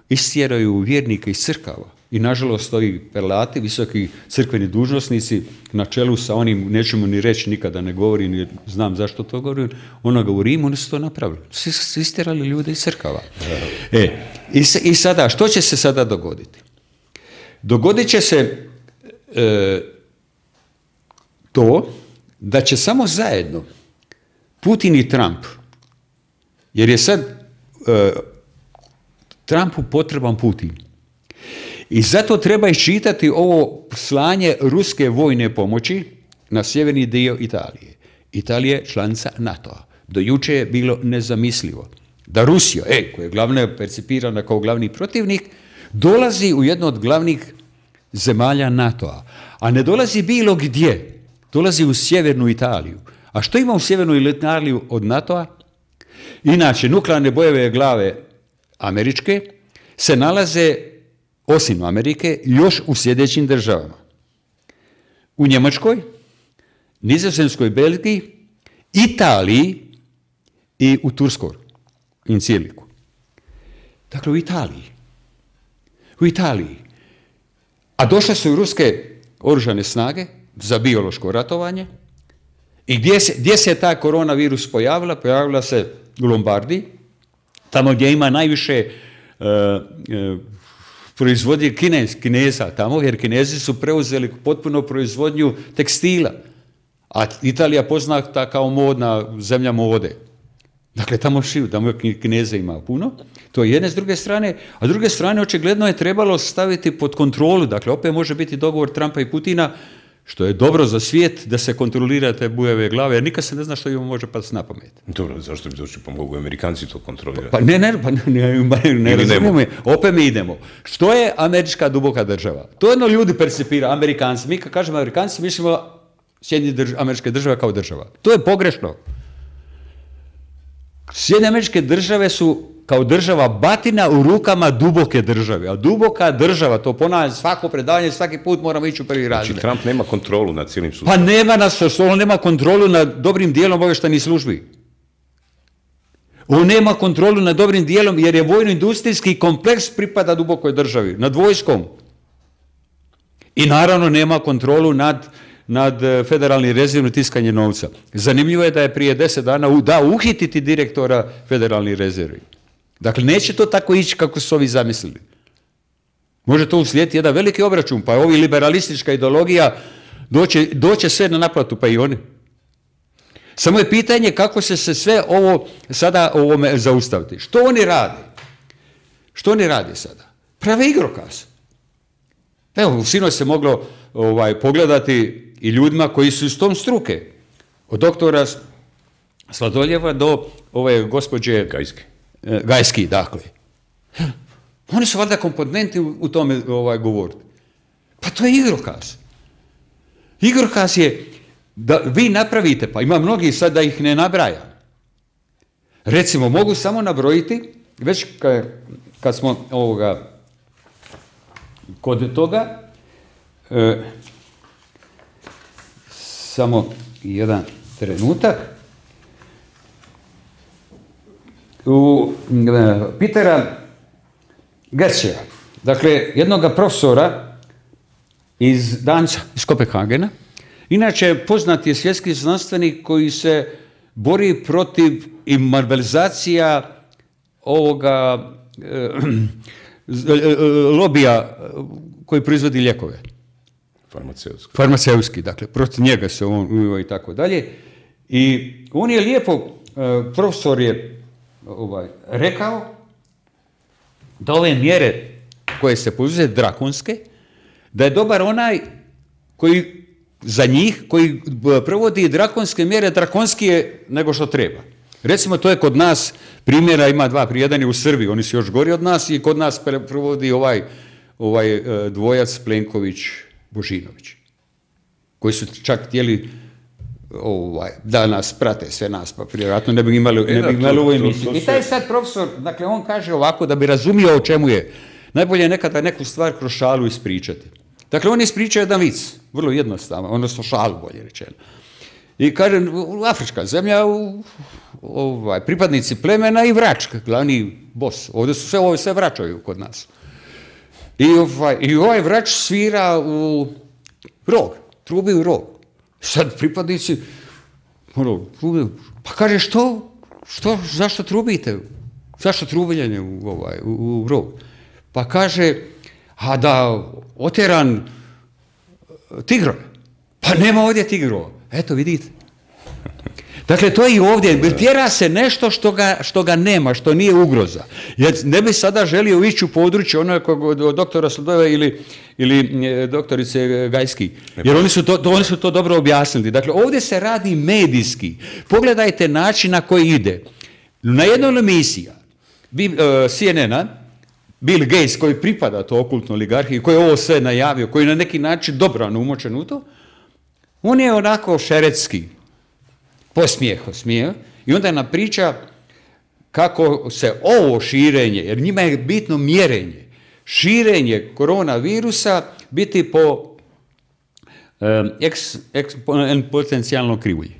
istjeraju vjernike iz crkava. I nažalost ovi prelati, visoki crkveni dužnosnici, na čelu sa onim, nećemo ni reći, nikada ne govorim, jer znam zašto to govorim, onoga u Rimu, oni su to napravili. Su istjerali ljude iz crkava. I sada, što će se sada dogoditi? Dogodit će se to da će samo zajedno Putin i Trump, jer je sad Trumpu potreban Putin. I zato treba iščitati ovo slanje ruske vojne pomoći na sjeverni dio Italije. Italija je članica NATO-a. Do juče je bilo nezamislivo da Rusija, koja je glavna percipirana kao glavni protivnik, dolazi u jednu od glavnih zemalja NATO-a. A ne dolazi bilo gdje. Dolazi u sjevernu Italiju. A što ima u sjevernu Italiju od NATO-a? Inače, nuklearne bojeve glave američke se nalaze, osim Amerike, još u sljedećim državama. U Njemačkoj, Nizozemskoj, Belgiji, Italiji i u Turskoj, Incirliku. Dakle, u Italiji. A došle su ruske oružane snage za biološko ratovanje. I gdje se ta koronavirus pojavila? Pojavila se u Lombardiji, tamo gdje ima najviše proizvodnje Kineza tamo, jer Kinezi su preuzeli potpuno proizvodnju tekstila, a Italija poznata kao modna zemlja mode. Dakle, tamo Kineza ima puno, to je jedne s druge strane, a s druge strane očigledno je trebalo staviti pod kontrolu, dakle, opet može biti dogovor Trumpa i Putina, što je dobro za svijet da se kontrolira te bujave glave, jer nikad se ne zna što im može pasti na pamet. Dobro, zašto bi došli, pa mogu Amerikanci to kontrolirati? Pa ne razumijemo. Opet mi idemo. Što je američka duboka država? To jedno ljudi percipira, Amerikanci. Mi kad kažemo Amerikanci, mislimo Sjedinjene Američke Države kao država. To je pogrešno. Sjedinjene Američke Države su kao država batina u rukama duboke države. A duboka država, to ponavljam svako predavanje, svaki put moramo ići u prvi razred. Znači Trump nema kontrolu nad cijelim sustavom. Pa nema on nema kontrolu nad dobrim dijelom obavještajnih službi. On nema kontrolu nad dobrim dijelom jer je vojno-industrijski kompleks pripada dubokoj državi, nad vojskom. I naravno nema kontrolu nad federalnim rezervom tiskanje novca. Zanimljivo je da je prije 10 dana uhititi direktora federalnih rezervi. Dakle, neće to tako ići kako su ovi zamislili. Može to uslijediti jedan veliki obračun, pa ovi liberalistička ideologija doće sve na naplatu, pa i oni. Samo je pitanje kako se sve ovo sada ovome zaustaviti. Što oni rade? Što oni rade sada? Prave igrokaz. Evo, sinoć se moglo pogledati i ljudima koji su iz tom struke. Od doktora Sladoljeva do ove gospođe Gajski, dakle. Oni su valjda komponenti u tome govoriti. Pa to je igrokaz. Igrokaz je da vi napravite, pa ima mnogi sad da ih ne nabrajam. Recimo, mogu samo nabrojiti, već kad smo kod toga, samo jedan trenutak, u Petera Gertschea, dakle, jednoga profesora iz Danca, iz Kopenhagena, inače poznat je svjetski znanstvenik koji se bori protiv imarbelizacija ovoga lobija koji proizvodi lijekove. Farmaceutski, dakle, protiv njega se on i tako dalje. I on je lijepo, profesor je rekao da ove mjere koje se poduzme drakonske, da je dobar onaj koji za njih, koji provodi drakonske mjere, drakonskije nego što treba. Recimo, to je kod nas, primjera ima dva, jedan je u Srbiji, oni su još gori od nas i kod nas provodi ovaj dvojac Plenković-Božinović, koji su čak htjeli da nas prate, sve nas, pa vjerojatno ne bi imali ovu emisiju. I taj sad profesor, dakle, on kaže ovako, da bi razumio o čemu je, najbolje je nekada neku stvar kroz šalu ispričati. Dakle, on ispriča jedan vic, vrlo jednostavno, odnosno šalu, bolje rečeno. I kaže, afrička zemlja, pripadnici plemena i vrač, glavni bos. Ovdje su sve vraćaju kod nas. I ovaj vrač svira u rog, trubi u rog. Sad pripadnici, pa kaže, zašto trubite? Zašto trubiljenje u rog? Pa kaže, a da otjeran tigrove. Pa nema ovdje tigrova. Eto, vidite. Dakle, to je i ovdje. Tjera se nešto što ga nema, što nije ugroza. Jer ne bi sada želio ići u područje od doktora Sladojeva ili doktorice Gajski. Jer oni su to dobro objasnili. Dakle, ovdje se radi medijski. Pogledajte način na koji ide. Na jednoj emisiji CNN-a, Bill Gates, koji pripada to okultnoj oligarhiji, koji je ovo sve najavio, koji je na neki način dobrano umočen u to, on je onako šeretski osmijeh i onda nam priča kako se ovo širenje, jer njima je bitno mjerenje, širenje koronavirusa biti po eksponencijalno krivulji.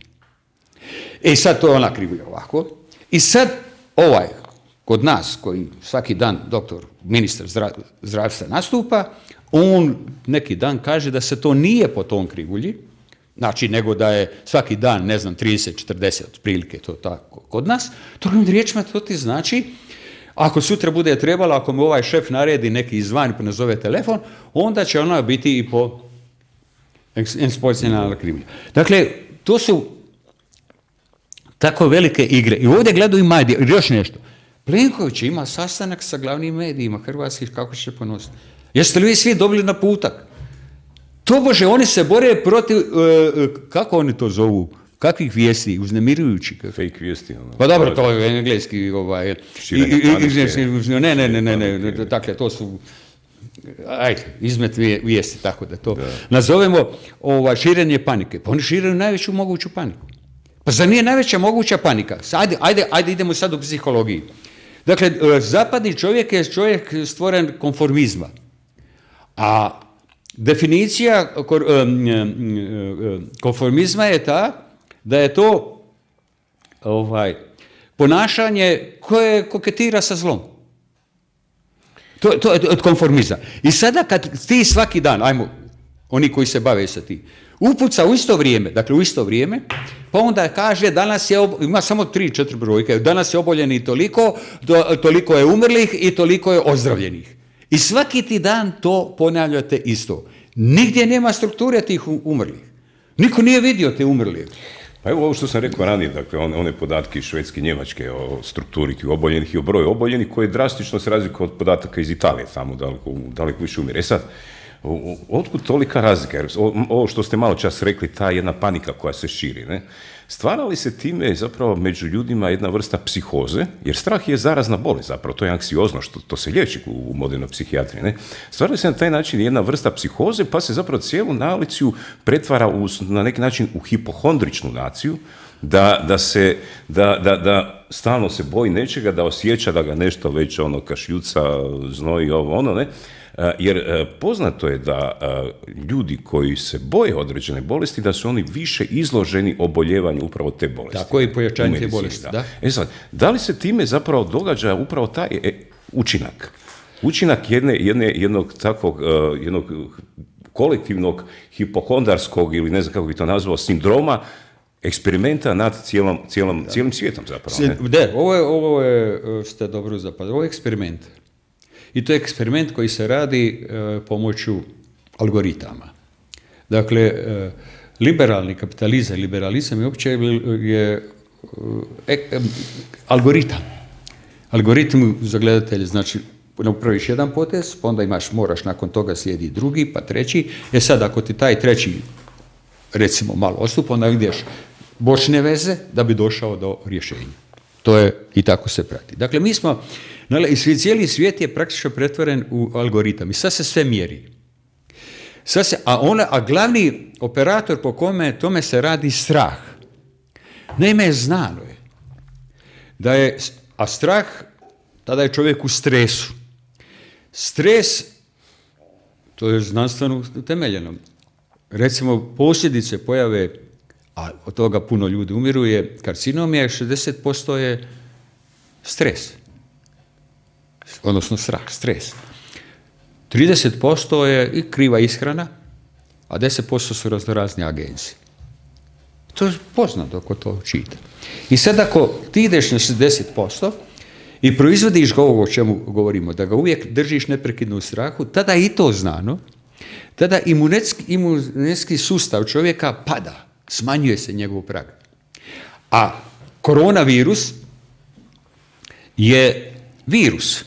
I sad to je ona krivulja ovako. I sad kod nas, koji svaki dan ministar zdravstva nastupa, on neki dan kaže da se to nije po tom krivulji, znači nego da je svaki dan, 30-40 otprilike to tako kod nas, drugim riječima to ti znači, Ako sutra bude trebalo, ako mu ovaj šef naredi neki izvan pa nazove telefon, onda će ona biti i po ekspozicionalna krivnja. Dakle, to su tako velike igre. I ovdje gledaju i medije. Još nešto. Plenković ima sastanak sa glavnim medijima hrvatskih, kako će se ponositi. Jeste li vi svi dobili naputak? Tobože, oni se bore protiv, kako oni to zovu, kakvih vijesti, uznemirujući. Fake vijesti. Pa dobro, to je engleski, ne, dakle, to su, ajde, izmet vijesti, tako da to nazovemo širenje panike. Pa oni šire najveću moguću paniku. Pa zar nije najveća moguća panika? Ajde, idemo sad u psihologiji. Dakle, zapadni čovjek je čovjek stvoren konformizma. A definicija konformizma je ta da je to ponašanje koje koketira sa zlom. To je od konformizma. I sada kad ti svaki dan, ajmo, oni koji se bave sa tim, upuca u isto vrijeme, pa onda kaže danas je, ima samo 3-4 brojke, danas je oboljeni toliko je umrlih i toliko je ozdravljenih. I svaki ti dan to ponavljate isto. Nigdje nema strukture tih umrlih. Niko nije vidio te umrlije. Pa evo ovo što sam rekao ranije, dakle, one podatke iz Švedske i Njemačke o strukturi tih oboljenih i o broju oboljenih, koje drastično se razlikuju od podataka iz Italije, tamo daleko više umire. Sad, otkud tolika razlika? Jer ovo što ste malo čas rekli, ta jedna panika koja se širi, ne? Stvara li se time zapravo među ljudima jedna vrsta psihoze, jer strah je zarazna bolest zapravo, to je anksiozno, što to se liječi u modernoj psihijatriji, ne? Stvara li se na taj način jedna vrsta psihoze, pa se zapravo cijelu naciju pretvara na neki način u hipohondričnu naciju, da stalno se boji nečega, da osjeća da ga nešto već kašljuca, znoji, ne? Jer poznato je da ljudi koji se boje određene bolesti, da su oni više izloženi oboljevanju upravo te bolesti. Tako i pojačanje te bolesti, da. Sad, da li se time zapravo događa upravo taj učinak? Učinak jednog kolektivnog hipohondarskog, ili ne znam kako bi to nazvao, sindroma, eksperimenta nad cijelim svijetom zapravo. Ovo ste dobro zapadili. Ovo je eksperiment. I to je eksperiment koji se radi pomoću algoritama. Dakle, liberalni kapitalizam, liberalizam je uopće algoritam. Algoritam za gledatelje, znači napraviš jedan potez, pa onda moraš nakon toga slijedi drugi, pa treći. Sad, ako ti taj treći, recimo, malo ostupa, onda ideš bočne veze da bi došao do rješenja. To je, i tako se prati. Dakle, mi smo, cijeli svijet je praktično pretvoren u algoritam i sad se sve mjeri. A glavni operator po tome se radi strah. Naime, znano je da je, a strah, tada je čovjek u stresu. Stres, to je znanstveno utemeljeno. Recimo, posljedice pojave, a od toga puno ljudi umiru, je karcinom, 60% je stres. Odnosno strah, stres. 30% je i kriva ishrana, a 10% su raznorazne agencije. To je poznato ako to čita. I sad ako ti ideš na 60% i proizvodiš ovo o čemu govorimo, da ga uvijek držiš neprekidno u strahu, tada i to znano, tada imunetski sustav čovjeka pada, smanjuje se njegov prag. A koronavirus je virus.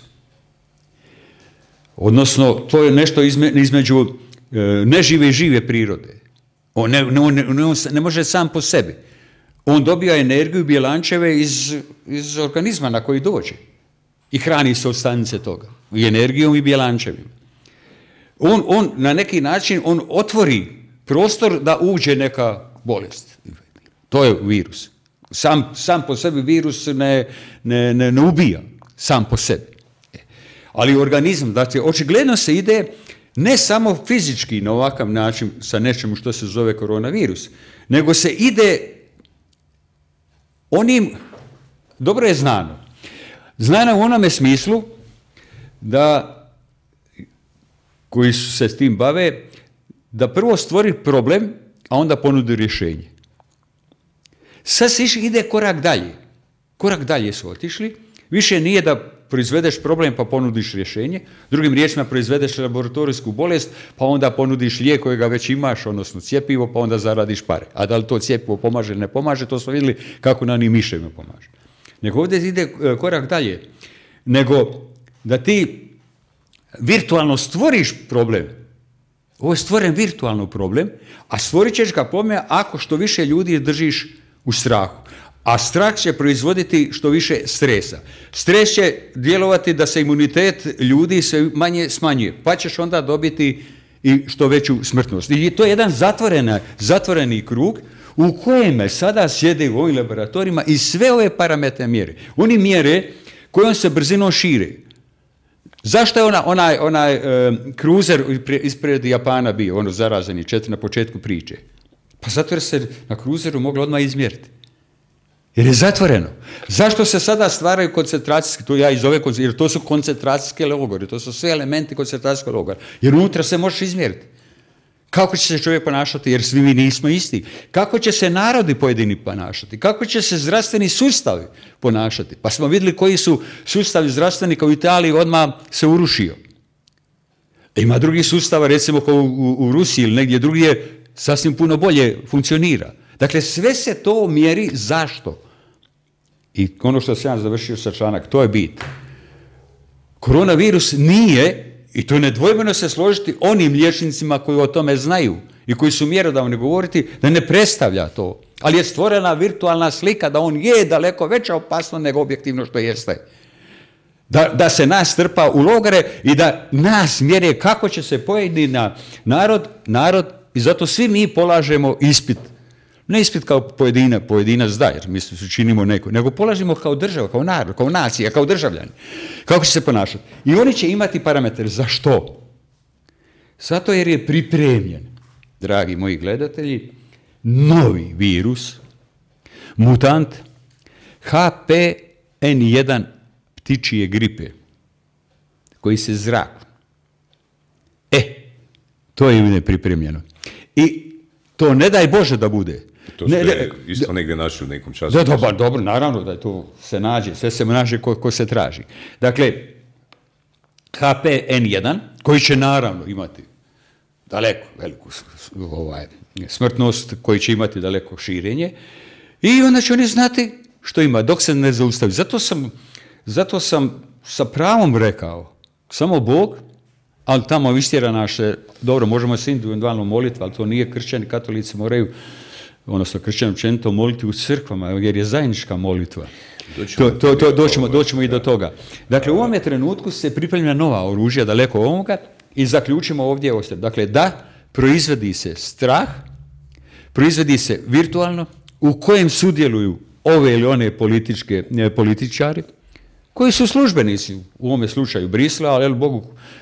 Odnosno, to je nešto između nežive i žive prirode. On ne može sam po sebi. On dobija energiju bjelančeve iz organizma na koji dođe. I hrani se od stanice toga. I energijom i bjelančevima. On na neki način otvori prostor da uđe neka bolest. To je virus. Sam po sebi virus ne ubija. Sam po sebi. Ali organizam, dakle, očigledno se ide ne samo fizički na ovakav način sa nečemu što se zove koronavirus, nego se ide onim, dobro je znano. Znano u onome smislu da, koji se s tim bave, da prvo stvori problem, a onda ponudi rješenje. Sad se ide korak dalje. Korak dalje su otišli. Više nije da proizvedeš problem pa ponudiš rješenje, drugim riječima proizvedeš laboratorijsku bolest pa onda ponudiš lijek kojega već imaš, odnosno cjepivo, pa onda zaradiš pare. A da li to cjepivo pomaže ili ne pomaže, to smo vidjeli kako na onim miševima pomaže. Nego ovdje ide korak dalje, nego da ti virtualno stvoriš problem. Ovo je stvoren virtualno problem, a stvorit ćeš ga problem ako što više ljudi držiš u strahu. A strah će proizvoditi što više stresa. Stres će djelovati da se imunitet ljudi sve manje smanjuje, pa ćeš onda dobiti i što veću smrtnost. I to je jedan zatvoreni krug u kojem sada sjede u ovim laboratorijima i sve ove parametre mjere. Oni mjere kojom se brzinom šire. Zašto je onaj kruzer ispred Japana bio, ono zarazeni 4 na početku priče? Pa zato jer se na kruzeru moglo odmah izmjeriti. Jer je zatvoreno. Zašto se sada stvaraju koncentracijske, to ja i zove, jer to su koncentracijske logore, to su sve elementi koncentracijskog logora. Jer unutra se možeš izmjeriti. Kako će se čovjek ponašati, jer svi mi nismo isti. Kako će se narodi pojedini ponašati. Kako će se zdravstveni sustavi ponašati. Pa smo vidjeli koji su sustavi zdravstveni kao u Italiji odmah se urušio. Ima drugih sustava, recimo kao u Rusiji ili negdje drugdje, sasvim puno bolje funkcionira. Dakle, sve se to mjeri zašto. I ono što sam ja završio sa članak, to je bit. Koronavirus nije, i to nedvojbeno se složiti onim liječnicima koji o tome znaju i koji su mjerodavni govoriti, da ne predstavlja to. Ali je stvorena virtualna slika da on je daleko veća opasnost nego objektivno što jeste. Da se nas strpa u logore i da nas mjere kako će se pojedini narod, i zato svi mi polažemo ispit. Ne ispit kao pojedinac da, jer mi se činimo neko, nego polažimo kao država, kao narod, kao nacija, kao državljani. Kako će se ponašati? I oni će imati parametre. Za što? Zato jer je pripremljen, dragi moji gledatelji, novi virus, mutant H5N1 ptičije gripe, koji se zraku. To je nepripremljeno. I to ne daj Bože da bude. To ste isto negdje našli u nekom času. Dobro, naravno da to se nađe, sve se nađe ko se traži. Dakle, H5N1, koji će naravno imati daleko veliku smrtnost, koji će imati daleko širenje, i onda će oni znati što ima, dok se ne zaustavi. Zato sam sa pravom rekao, samo Bog, ali tamo istjera naše, dobro, možemo se individualno moliti, ali to nije kršćani, katolici moraju, odnosno kršćani općenito moliti u crkvama, jer je zajednička molitva. Doćemo i do toga. Dakle, u ovome trenutku se pripremlja nova oružja daleko ovoga i zaključimo ovdje ostaje. Dakle, da proizvodi se strah, proizvodi se virtualno, u kojem sudjeluju ove ili one političari, koji su službenici, u ovome slučaju Brisela, ali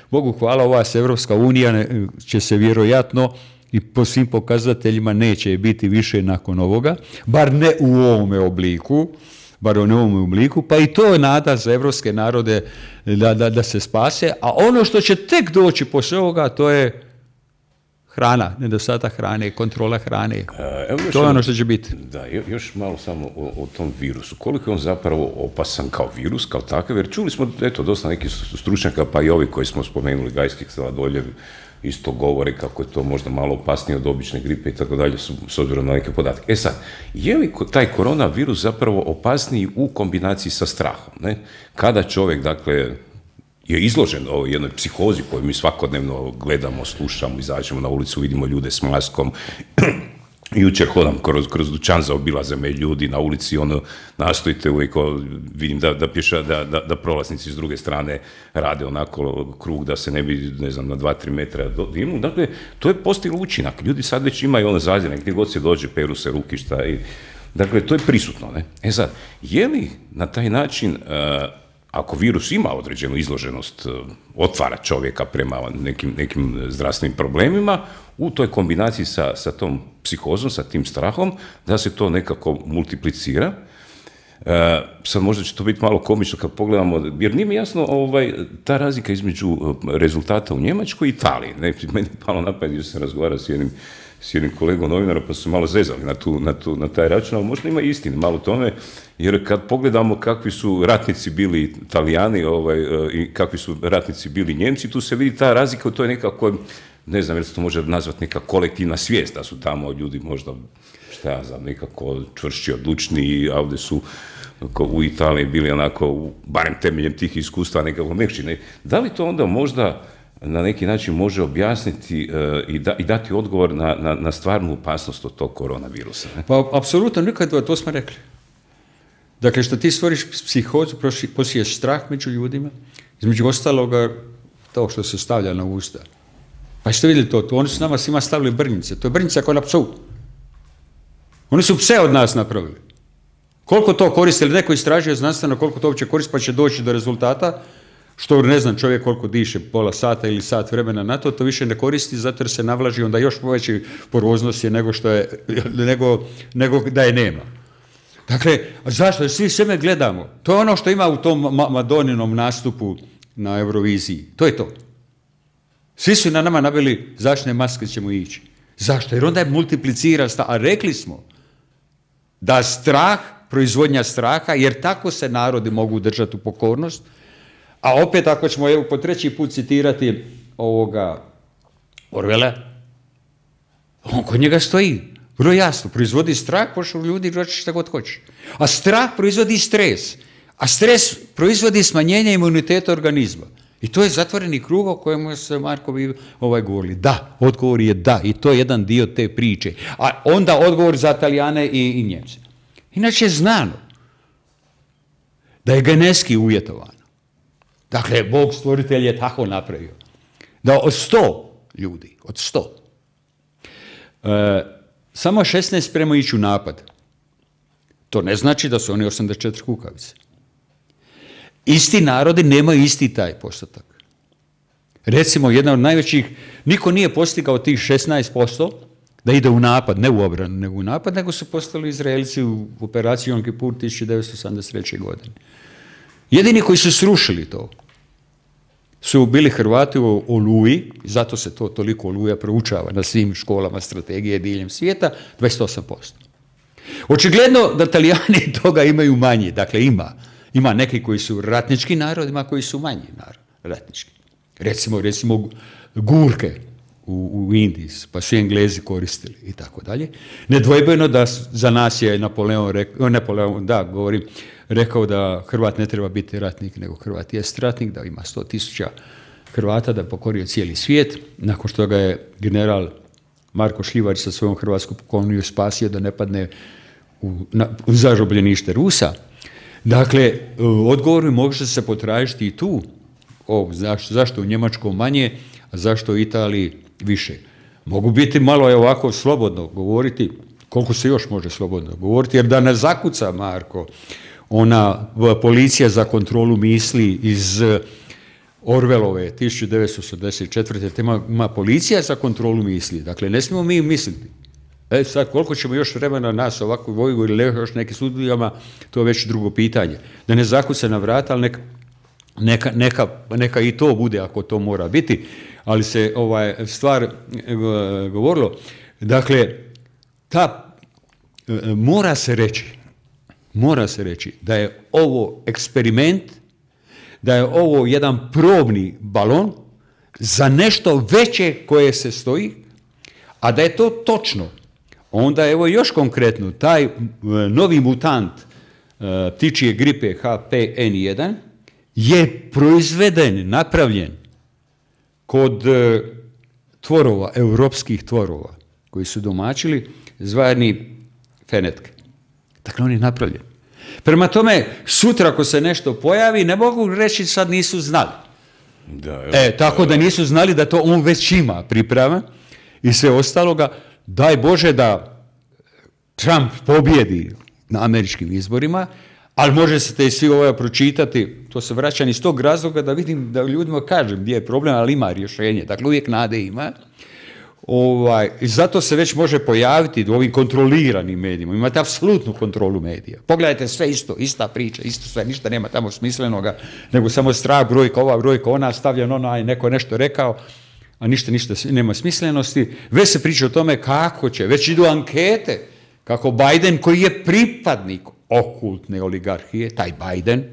Bogu hvala, ova Evropska unija će se vjerojatno i po svim pokazateljima neće biti više nakon ovoga, bar ne u ovome obliku, pa i to je nada za evropske narode da se spase, a ono što će tek doći poslije ovoga, to je hrana, nedostatak hrane, kontrola hrane. To je ono što će biti. Da, još malo samo o tom virusu. Koliko je on zapravo opasan kao virus, kao takav, jer čuli smo, dosta nekih stručnjaka, pa i ovi koji smo spomenuli, Gajskih, Sladoljev, isto govore kako je to možda malo opasnije od obične gripe i tako dalje, s obzirom na neke podatke. Sad, je li taj koronavirus zapravo opasniji u kombinaciji sa strahom? Ne? Kada čovjek, dakle, je izložen ovoj jednoj psihozi koju mi svakodnevno gledamo, slušamo, izađemo na ulicu, vidimo ljude s maskom. Jučer hodam kroz dućan, zaobilaze me ljudi na ulici, nastojite uvijek, vidim da prolaznici s druge strane rade onako krug da se ne bi, na 2-3 metra divnu. Dakle, to je postiglo učinak. Ljudi sad već imaju zaziranje, gdje god se dođe, peru se rukišta. Dakle, to je prisutno. Ne? Sad, je li na taj način, ako virus ima određenu izloženost, otvara čovjeka prema nekim zdravstvenim problemima, u toj kombinaciji sa tom psihozom, sa tim strahom, da se to nekako multiplicira. Sad možda će to biti malo komično kad pogledamo, jer nije mi jasno ta razlika između rezultata u Njemačkoj i Italiji. Ne, meni je palo na pamet, jer sam razgovarao s jednim kolegom novinara, pa su malo zezali na taj račun, ali možda ima istine malo tome, jer kad pogledamo kakvi su ratnici bili Italijani i kakvi su ratnici bili Njemci, tu se vidi ta razlika, to je nekako, ne znam, jer se to može nazvati neka kolektivna svijest, da su tamo ljudi možda, šta ja znam, nekako čvršći, odlučniji, a ovdje su u Italiji bili onako, barem temeljem tih iskustva, nekako mekši. Ne? Da li to onda možda na neki način može objasniti i dati odgovor na stvarnu opasnost od tog koronavirusa? Ne? Pa, apsolutno, nikad to smo rekli. Dakle, što ti stvoriš psihozu, posiješ strah među ljudima, između ostaloga, to što se stavlja na usta. Pa što vidjeli to? Oni su nama svima stavili brnjice. To je brnjica kao na psu. Oni su pse od nas napravili. Koliko to koriste, ili neko istražuje znanstveno koliko to uopće koristi, pa će doći do rezultata, što ne znam čovjek koliko diše, pola sata ili sat vremena na to, to više ne koristi zato jer se navlaži, onda još veći poroznost je nego da je nema. Dakle, zašto? Svi sebe gledamo. To je ono što ima u tom Madoninom nastupu na Euroviziji. To je to. Svi su na nama nabili zaštitne maske ćemo ići. Zašto? Jer onda je multiplicira, a rekli smo da strah, proizvodnja straha, jer tako se narodi mogu držati u pokornost, a opet ako ćemo po treći put citirati Orwella, on kod njega stoji, vrlo jasno, proizvodi strah, pošao ljudi reći šta god hoće. A strah proizvodi stres, a stres proizvodi smanjenje imuniteta organizma. I to je zatvoreni krug o kojemu se Markovi govorili. Da, odgovor je da, i to je jedan dio te priče. A onda odgovor za Italijane i Njemce. Inače je znano da je genetski uvjetovano. Dakle, Bog stvoritelj je tako napravio. Da od 100 ljudi, samo 16 spremaju ići u napad. To ne znači da su oni 84 kukavice. Isti narodi nemaju isti taj postotak. Recimo, jedna od najvećih, niko nije postigao tih 16% da ide u napad, ne u obranu, nego u napad, nego su postali Izraelci u operaciji Jom Kipur 1983. godine. Jedini koji su srušili to su bili Hrvati u Oluji, zato se to toliko Oluja proučava na svim školama strategije diljem svijeta, 28%. Očigledno da Talijani toga imaju manje, dakle ima neki koji su ratnički narod, ima koji su manji narod, ratnički. Recimo gurke u Indiji, pa su Englezi koristili i tako dalje. Nedvojbeno da za nas je rekao da Hrvat ne treba biti ratnik, nego Hrvat jest ratnik, da ima 100.000 Hrvata, da je pokorio cijeli svijet. Nakon što ga je general Marko Šljivar sa svojom hrvatskom pukovniju spasio da ne padne u zarobljenište Rusa. Dakle, odgovor može se potražiti i tu. Zašto u Njemačkoj manje, a zašto u Italiji više? Mogu biti malo ovako slobodno govoriti, koliko se još može slobodno govoriti, jer da ne zakuca Marko, ona policija za kontrolu misli iz Orwellove 1984. Ima policija za kontrolu misli. Dakle, ne smijemo mi misliti. Sad, koliko ćemo još vremena nas ovako voju ili još nekim studijama, to je već drugo pitanje. Da ne zakuca na vrata, ali neka i to bude ako to mora biti, ali se stvar govorilo. Dakle, mora se reći da je ovo eksperiment, da je ovo jedan probni balon za nešto veće koje se stoji, a da je to točno. Onda evo još konkretno, taj novi mutant ptičje gripe H5N1 je proizveden, napravljen kod tvorova, europskih tvorova, koji su domaćili, zvani fenetke. Dakle, on je napravljen. Prema tome, sutra ako se nešto pojavi, ne mogu reći sad nisu znali. Tako da nisu znali da to on već ima priprava i sve ostaloga. Daj Bože da Trump pobjedi na američkim izborima, ali može se te svi pročitati, to se vraćam iz tog razloga da vidim, da ljudima kažem gdje je problem, ali ima rješenje. Dakle, uvijek nade ima. I zato se već može pojaviti u ovim kontroliranim medijima. Imate apsolutnu kontrolu medija. Pogledajte, sve isto, ista priča, isto sve, ništa nema tamo smislenoga, nego samo strah, brojka, ova brojka, ona stavljena, ona, neko nešto rekao, a ništa nema smislenosti. Već se priča o tome kako će, već idu ankete, kako Biden, koji je pripadnik okultne oligarhije, taj Biden,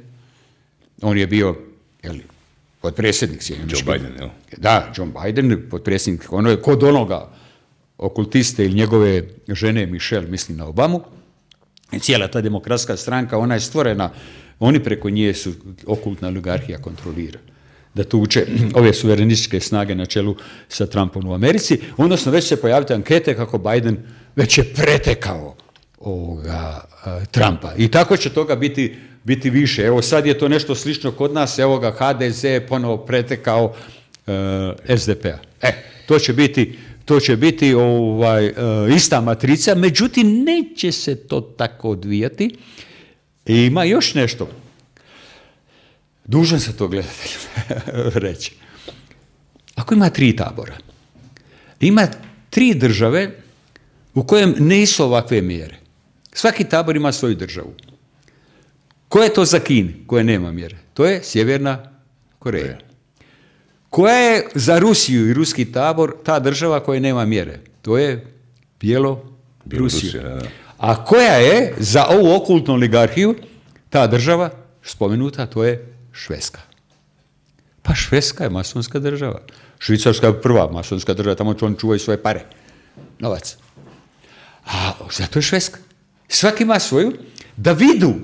on je bio, potpredsjednik Sjedinjenih Joe Biden, jel? Da, John Biden, potpredsjednik, ono je kod onoga okultiste ili njegove žene Michelle, mislim na Obamu, i cijela ta demokratska stranka, ona je stvorena, oni preko nje su okultna oligarhija kontrolira. Da tu uče ove suverenističke snage na čelu sa Trumpom u Americi, odnosno već se pojavite ankete kako Biden već je pretekao Trumpa. I tako će toga biti više. Evo sad je to nešto slično kod nas, evo ga HDZ je ponovo pretekao SDP-a. To će biti ista matrica, međutim neće se to tako odvijati. I ima još nešto. Dužan se to gledatelju reći. Ako ima 3 tabora, ima 3 države u kojem nisu ovakve mjere. Svaki tabor ima svoju državu. Koja je to za Kini, koja nema mjere? To je Sjeverna Koreja. Koja je za Rusiju i ruski tabor ta država koja nema mjere? To je Bjelorusija. A koja je za ovu okultnu oligarhiju ta država spomenuta? To je Švedska. Pa Švedska je masonska država. Švicarska je prva masonska država, tamo oni čuvaju svoje pare, novac. A zato je Švedska. Svaki ima svoju, da vidu,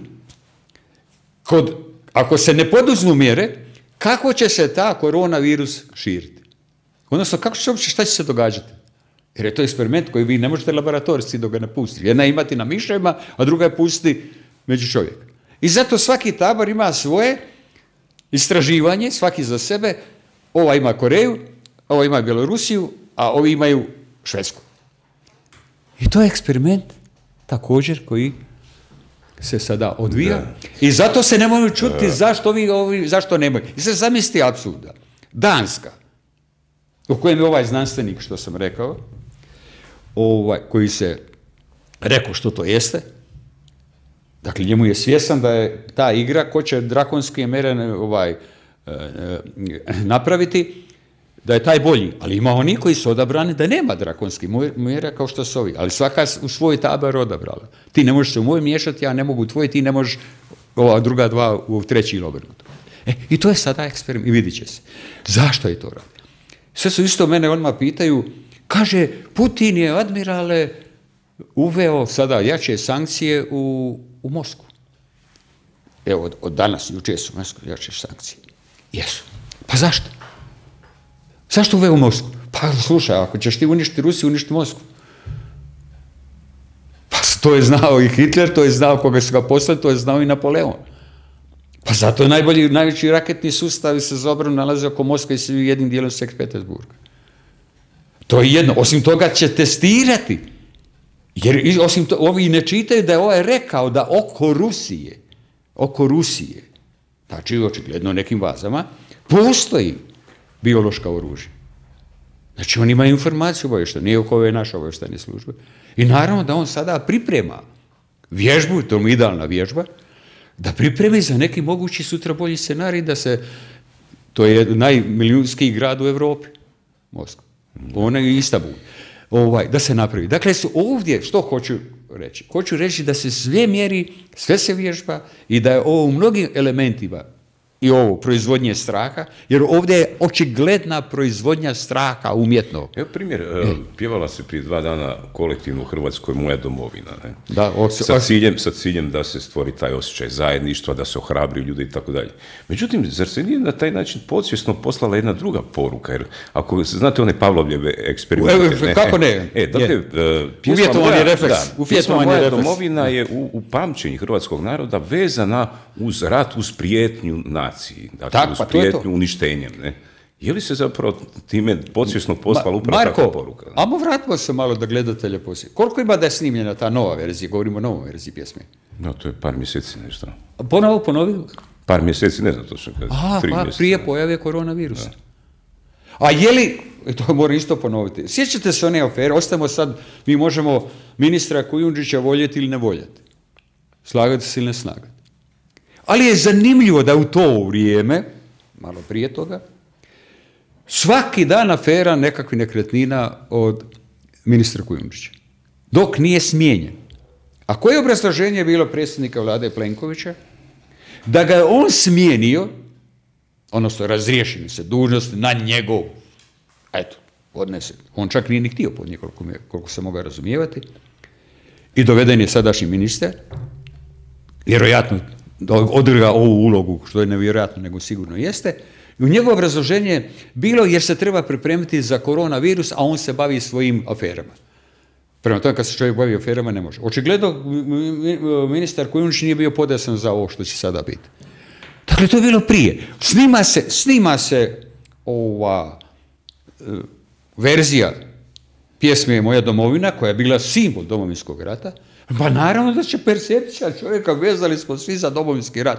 ako se ne poduzmu mjere, kako će se ta koronavirus širiti. Odnosno, šta će se događati? Jer je to eksperiment koji vi ne možete laboratorijski dok ga ne pustiti. Jedna je imati na miševima, a druga je pustiti među čovjeka. I zato svaki tabor ima svoje istraživanje, svaki za sebe. Ova ima Koreju, ova ima Bjelorusiju, a ovi imaju Švedsku. I to je eksperiment također koji se sada odvija. Da. I zato se ne mogu čuti zašto nemaju. I sad zamislite apsurda. Danska, u kojem je ovaj znanstvenik, što sam rekao, koji se rekao što to jeste, dakle njemu je svjestan da je ta igra ko će drakonske mere napraviti, da je taj bolji. Ali ima oni koji su odabrani da nema drakonskih mjera kao što su ovi. Ali svaka u svoj tabor odabrala. Ti ne možeš se u moj miješati, ja ne mogu u tvoj, ti ne možeš ova druga dva u treći ili obrnuto. I to je sada eksperiment i vidit će se. Zašto je to radi? Sve su isto mene odmah pitaju, kaže, Putin je, admirale, uveo sada jače sankcije u Moskvu. Evo, od danas, jučer su jače sankcije. Jesu. Pa zašto? Zašto uveo Moskvu? Pa slušaj, ako ćeš ti uništiti Rusiju, uništiti Moskvu. Pa to je znao i Hitler, to je znao koga su ga poslali, to je znao i Napoleon. Pa zato je najveći raketni sustavi se za obranu nalaze oko Moskve i jednim dijelom Sankt Petersburga. To je jedno. Osim toga će testirati. Jer osim toga, ovi ne čitaju da je ovaj rekao da oko Rusije, znači očigledno nekim vazama, postoji biološka oružja. Znači on ima informaciju obavještajne, nije oko ove naše obavještajne službe. I naravno da on sada priprema vježbu, to je idealna vježba, da pripremi za neki mogući sutra bolji scenarij da se, to je najmilijunskiji grad u Europi, Moskva, ona je Istanbul, da se napravi. Dakle, su ovdje, što hoću reći? Hoću reći da se sve mjeri, sve se vježba i da je ovo u mnogim elementima i ovo proizvodnje straha, jer ovdje je očigledna proizvodnja straha umjetno. Evo primjer, pjevala se prije 2 dana kolektivno u Hrvatskoj Moja domovina. Ne? Da, sa ciljem da se stvori taj osjećaj zajedništva, da se ohrabri ljudi i tako dalje. Međutim, zar se nije na taj način podsvjesno poslala jedna druga poruka? Jer ako znate one Pavlovljeve eksperimente... Kako ne? Dakle, uvjetovani refleks. Pjesma Moja domovina je u pamćenju hrvatskog naroda vezana uz rat, uz prijetnju naciji, dakle uz prijetnju uništenjem. Ne? Je li se zapravo time podsvjesno poslala upravo takva poruka? Ajmo vratimo se malo da gledatelje poslije. Koliko ima da je snimljena ta nova verzija? Govorimo o novoj verziji pjesme. No, to je par mjeseci nešto. Ponovi? Par mjeseci, ne znam točno kada. Prije pojave koronavirusa. A je li, i to moram isto ponoviti, sjećate se one afere, ostajemo sad, mi možemo ministra Kujundžića voljeti ili ne voljeti, slagati se ili ne slagati. Ali je zanimljivo da u to vrijeme, malo prije toga, svaki dan afera nekakvih nekretnina od ministra Kujundžića, dok nije smijenjen. A koje obrazloženje je bilo predsjednika vlade Plenkovića? Da ga je on smijenio, odnosno razriješeni se dužnosti na njegov, eto, odnesen. On čak nije ni htio podnijeti, koliko se mogao razumijevati. I doveden je sadašnji ministar, vjerojatno odigra ovu ulogu, što je nevjerojatno, nego sigurno jeste. I u njegovo obrazloženje je bilo jer se treba pripremiti za koronavirus, a on se bavi svojim aferama. Prema tome, kad se čovjek bavi aferama, ne može. Očigledno, ministar Kujundžić nije bio podesan za ovo što će sada biti. Dakle, to je bilo prije. Snima se ova verzija pjesme Moja domovina, koja je bila simbol Domovinskog rata. Pa naravno da će percepcija čovjeka, vezali smo svi za Domovinski rat.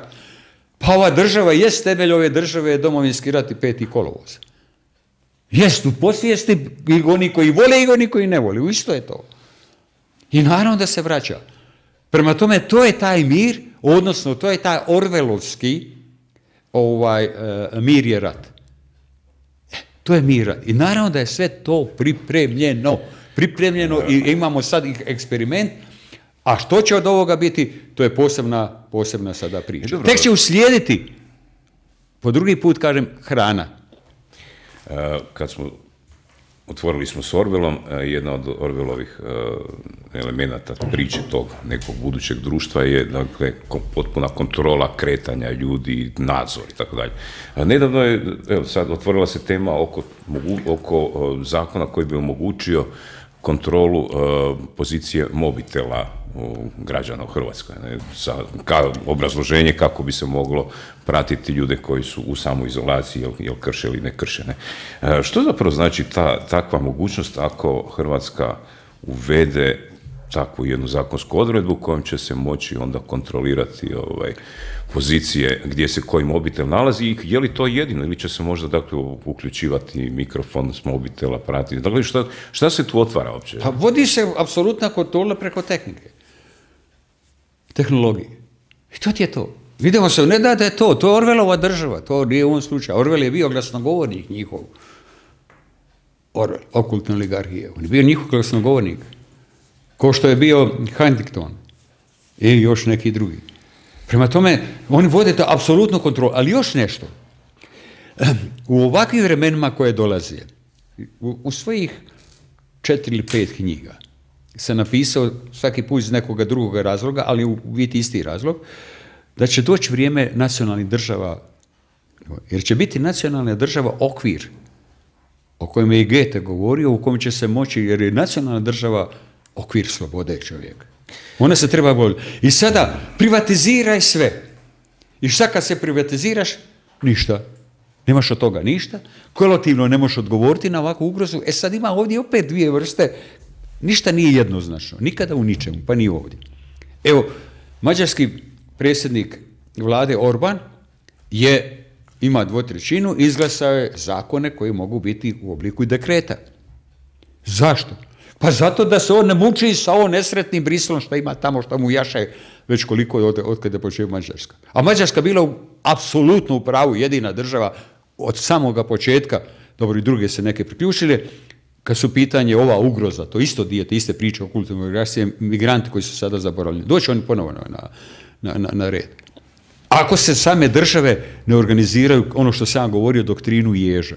Pa ova država jest temelj ove države, je Domovinski rat i 5. kolovoz. Jest u podsvijesti i oni koji vole i oni koji ne vole. Isto je to. I naravno da se vraća. Prema tome, to je taj mir, odnosno to je taj orvelovski mir je rat. To je mir rat. I naravno da je sve to pripremljeno i imamo sad eksperiment. A što će od ovoga biti, to je posebna sada priča. Tek će uslijediti, po drugi put kažem, hrana. Kad smo otvorili smo s Orwellom, jedna od Orwellovih elemenata priče tog nekog budućeg društva je, dakle, potpuna kontrola kretanja ljudi, nadzor i tako dalje. Nedavno je, evo sad, otvorila se tema oko zakona koji bi omogućio kontrolu pozicije mobitela građana u Hrvatskoj, obrazloženje kako bi se moglo pratiti ljude koji su u samoizolaciji, jel krše ili ne krše. Ne? Što zapravo znači takva mogućnost ako Hrvatska uvede takvu jednu zakonsku odredbu kojom će se moći onda kontrolirati pozicije gdje se koji mobitel nalazi i je li to jedino ili će se možda, dakle, uključivati mikrofon s mobitela, pratiti. Dakle, šta se tu otvara uopće? Pa vodi se apsolutna kontrola preko tehnike. Tehnologije. I to ti je to. Vidimo se, ne da je to je Orwellova država, to nije u ovom slučaju. Orwell je bio glasnogovornik njihov. Orwell, okultne oligarhije. On je bio njihov glasnogovornik. Ko što je bio Huntington i još neki drugi. Prema tome, oni vode to apsolutnu kontrolu. Ali još nešto. U ovakvim vremenima koje dolaze, u svojih 4 ili 5 knjiga, sam napisao svaki put iz nekoga drugoga razloga, ali u biti isti razlog, da će doći vrijeme nacionalnih država, jer će biti nacionalna država okvir o kojem je i Goethe govorio, u kojem će se moći, jer je nacionalna država okvir slobode čovjeka. Ona se treba voliti. I sada privatiziraj sve. I šta kad se privatiziraš? Ništa. Nemaš od toga ništa. Kolektivno ne možeš odgovoriti na ovakvu ugrozu. E sad ima ovdje opet dvije vrste. Ništa nije jednoznačno. Nikada u ničemu, pa ni ovdje. Evo, mađarski predsjednik vlade Orban ima 2/3, izglasao je zakone koji mogu biti u obliku dekreta. Zašto? Pa zato da se on ne muči sa ovom nesretnim Briselom što ima tamo, što mu jaše već koliko od kada je počeo Mađarska. A Mađarska bila apsolutno u pravu, jedina država od samoga početka, dobro i druge se neke priključile, kad su pitanje ova ugroza, to isto dijete, iste priče o kulturnoj migraciji, migranti koji su sada zaboravljeni. Doći oni ponovo na red. Ako se same države ne organiziraju, ono što sam govorio, doktrinu ježa.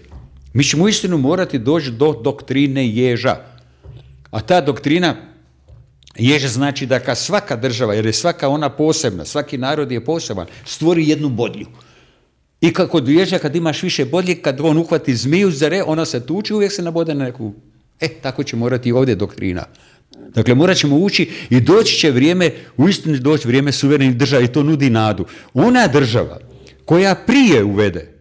Mi ćemo uistinu morati doći do doktrine ježa. A ta doktrina ježa znači da kad svaka država, jer je svaka ona posebna, svaki narod je poseban, stvori jednu bodlju. I kod ježa, kad imaš više bodlje, kad on uhvati zmiju, ona se tuči, uvijek se nabode na neku. Tako će morati i ovdje doktrina. Dakle, morat ćemo ući i doći će vrijeme, uistinu doći vrijeme suverenih država i to nudi nadu. Ona država koja prije uvede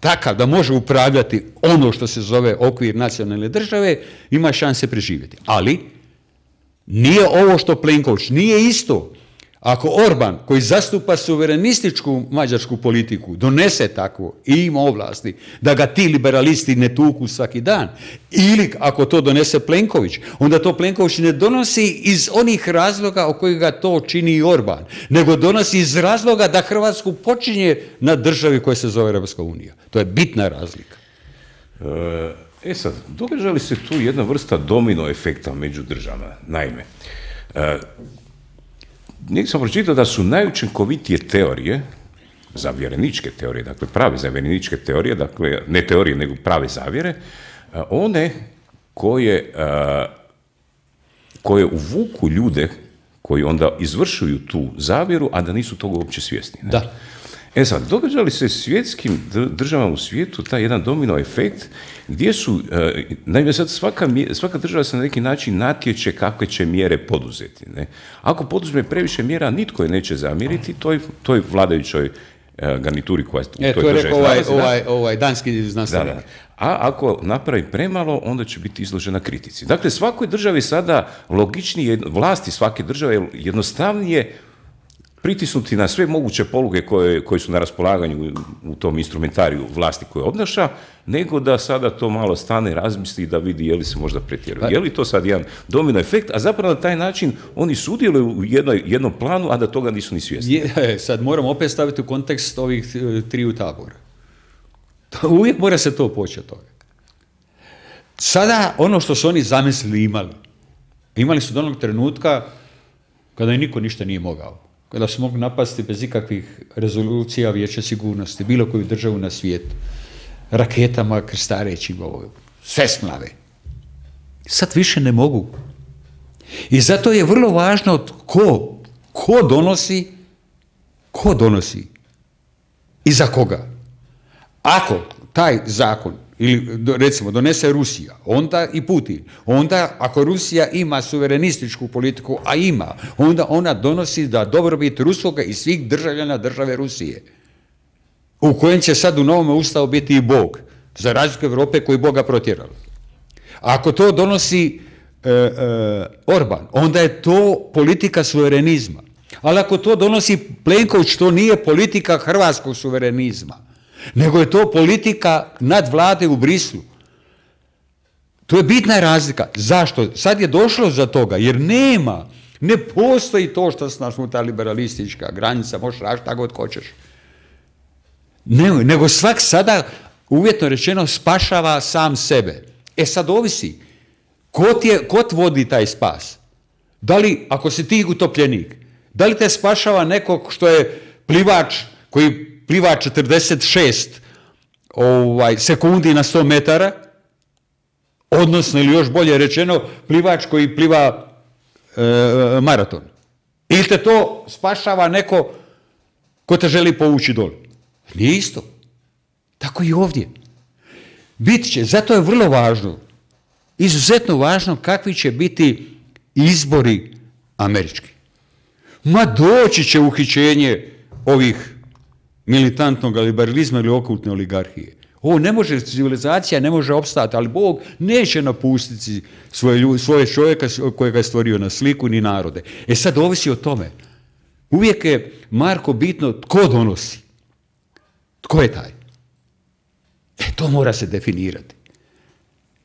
takav da može upravljati ono što se zove okvir nacionalne države, ima šanse preživjeti. Ali nije ovo što Plenković, nije isto Ako Orban, koji zastupa suverenističku mađarsku politiku, donese takvo i ima ovlasti da ga ti liberalisti ne tuku svaki dan, ili ako to donese Plenković, onda to Plenković ne donosi iz onih razloga o kojih ga to čini i Orban, nego donosi iz razloga da Hrvatsku počinje na državi koja se zove Europska unija. To je bitna razlika. Sad, događa li se tu jedna vrsta domino efekta među državama? Naime, negdje sam pročitao da su najučinkovitije teorije, zavjereničke teorije, dakle prave zavjereničke teorije, dakle ne teorije nego prave zavjere, one koje uvuku ljude koji onda izvršuju tu zavjeru, a da nisu toga uopće svjesni. Ne? Da. Sad, događa li se svjetskim državama u svijetu taj jedan domino efekt gdje su, naime sad svaka država se na neki način natječe kakve će mjere poduzeti. Ne? Ako poduzme previše mjera, nitko je neće zamjeriti toj vladajućoj garnituri koja u toj državi nalazi. Ovaj danski znanstvenik. Da. A ako napravi premalo, onda će biti izložena kritici. Dakle, svakoj državi sada logičnije, vlasti svake države je jednostavnije pritisnuti na sve moguće poluge koje su na raspolaganju u tom instrumentariju vlasti koje obnaša, nego da sada to malo stane, razmisli da vidi je li se možda pretjeruje. Je li to sad jedan domino efekt, a zapravo na taj način oni sudjeluju u jednom planu, a da toga nisu ni svjesni. Sad moram opet staviti u kontekst ovih triju tabora. Uvijek mora se to poći od toga. Sada ono što su oni zamislili imali su do onog trenutka kada i niko ništa nije mogao. Kada su mogli napasti bez ikakvih rezolucija Vijeća sigurnosti, bilo koju državu na svijetu, raketama krstareći sve smlave. Sad više ne mogu. I zato je vrlo važno ko donosi i za koga. Ako taj zakon, ili recimo donese Rusija, onda i Putin, onda ako Rusija ima suverenističku politiku, a ima, onda ona donosi da dobrobit Ruskoga i svih državljana države Rusije, u kojem će sad u novome ustavu biti i Bog, za razliku Europe koji Boga protjerala. Ako to donosi Orban, onda je to politika suverenizma. Ali ako to donosi Plenković, to nije politika hrvatskog suverenizma, nego je to politika nadvlade u Brislu. To je bitna razlika. Zašto? Sad je došlo za toga, jer ne postoji to što se nasmuta liberalistička granica, možeš raditi šta god hoćeš. Nego svak sada, uvjetno rečeno, spašava sam sebe. Sad ovisi, ko vodi taj spas? Da li, ako si ti utopljenik, da li te spašava nekog što je plivač koji pliva 46 sekundi na 100 metara, odnosno, ili još bolje rečeno, plivač koji pliva maraton. Ili te to spašava neko ko te želi povući dole. Nije isto. Tako i ovdje. Bit će, zato je vrlo važno, izuzetno važno kakvi će biti izbori američki. Doći će uhićenje ovih militantnog liberalizma ili okultne oligarhije. Civilizacija ne može opstati, ali Bog neće napustiti svoje čovjeka kojega je stvorio na sliku ni narode. Sad ovisi o tome. Uvijek je, Marko, bitno tko donosi. Tko je taj? To mora se definirati.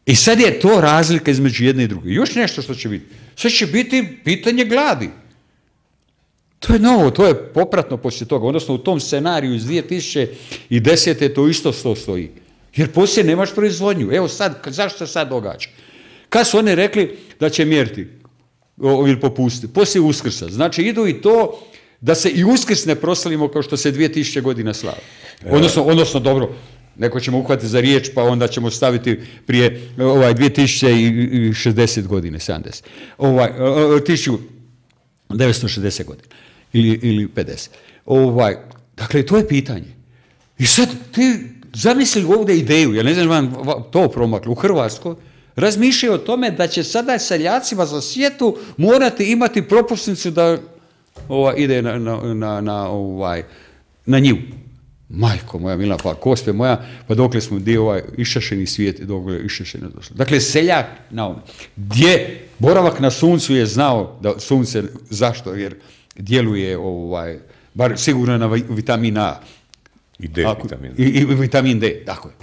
I sad je to razlika između jedne i druge. Još nešto što će biti. Sad će biti pitanje gladi. To je novo, to je popratno poslije toga, odnosno u tom scenariju iz 2010. to isto stoji. Jer poslije nemaš proizvodnju. Evo sad, zašto se sad događa? Kad su oni rekli da će mjeriti ili popustiti? Poslije Uskrsa. Znači idu i to da se i Uskrs ne proslavimo kao što se 2000 godina slavi. Odnosno, dobro, neko ćemo uhvatiti za riječ, pa onda ćemo staviti prije 2060 godine, 70. 1960 godina. Ili 50. Dakle, to je pitanje. I sad ti zamisli ovdje ideju, ja ne znam vam to promaklo, u Hrvatskoj, razmišljaju o tome da će sada seljacima za sjetu morati imati propusnicu da ide na njivu. Majko moja mila, pa Gospe moja, pa dokle smo dio išašeni svijet i dokle išašeno došlo. Dakle, seljak na ono. Gdje boravak na suncu je znao da sunce, zašto? Jer djeluje, bar sigurno na vitamin A. I D vitamin. I vitamin D, tako je.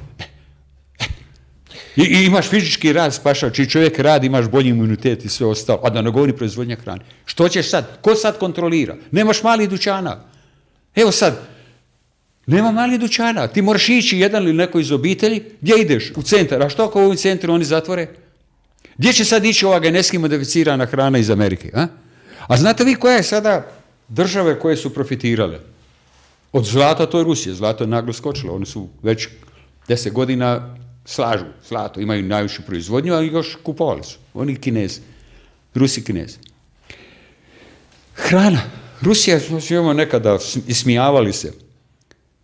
I imaš fizički rad, spašač, i čovjek radi, imaš bolji imunitet i sve ostalo, a da ne govori proizvodnja hrane. Što ćeš sad? Ko sad kontrolira? Nemaš malih dućana. Evo sad, nema malih dućana. Ti moraš ići jedan ili neko iz obitelji, gdje ideš? U centar. A što ako u ovim centru oni zatvore? Gdje će sad ići ova genetski modificirana hrana iz Amerike? A znate vi koja je sada države koje su profitirale? Od zlata, to je Rusija. Zlato je naglo skočilo. Oni su već 10 godina slažu zlato, imaju najvišu proizvodnju, ali još kupovali su. Oni Kinezi. Rusi Kinezi. Hrana. Rusija, imamo nekada ismijavali se.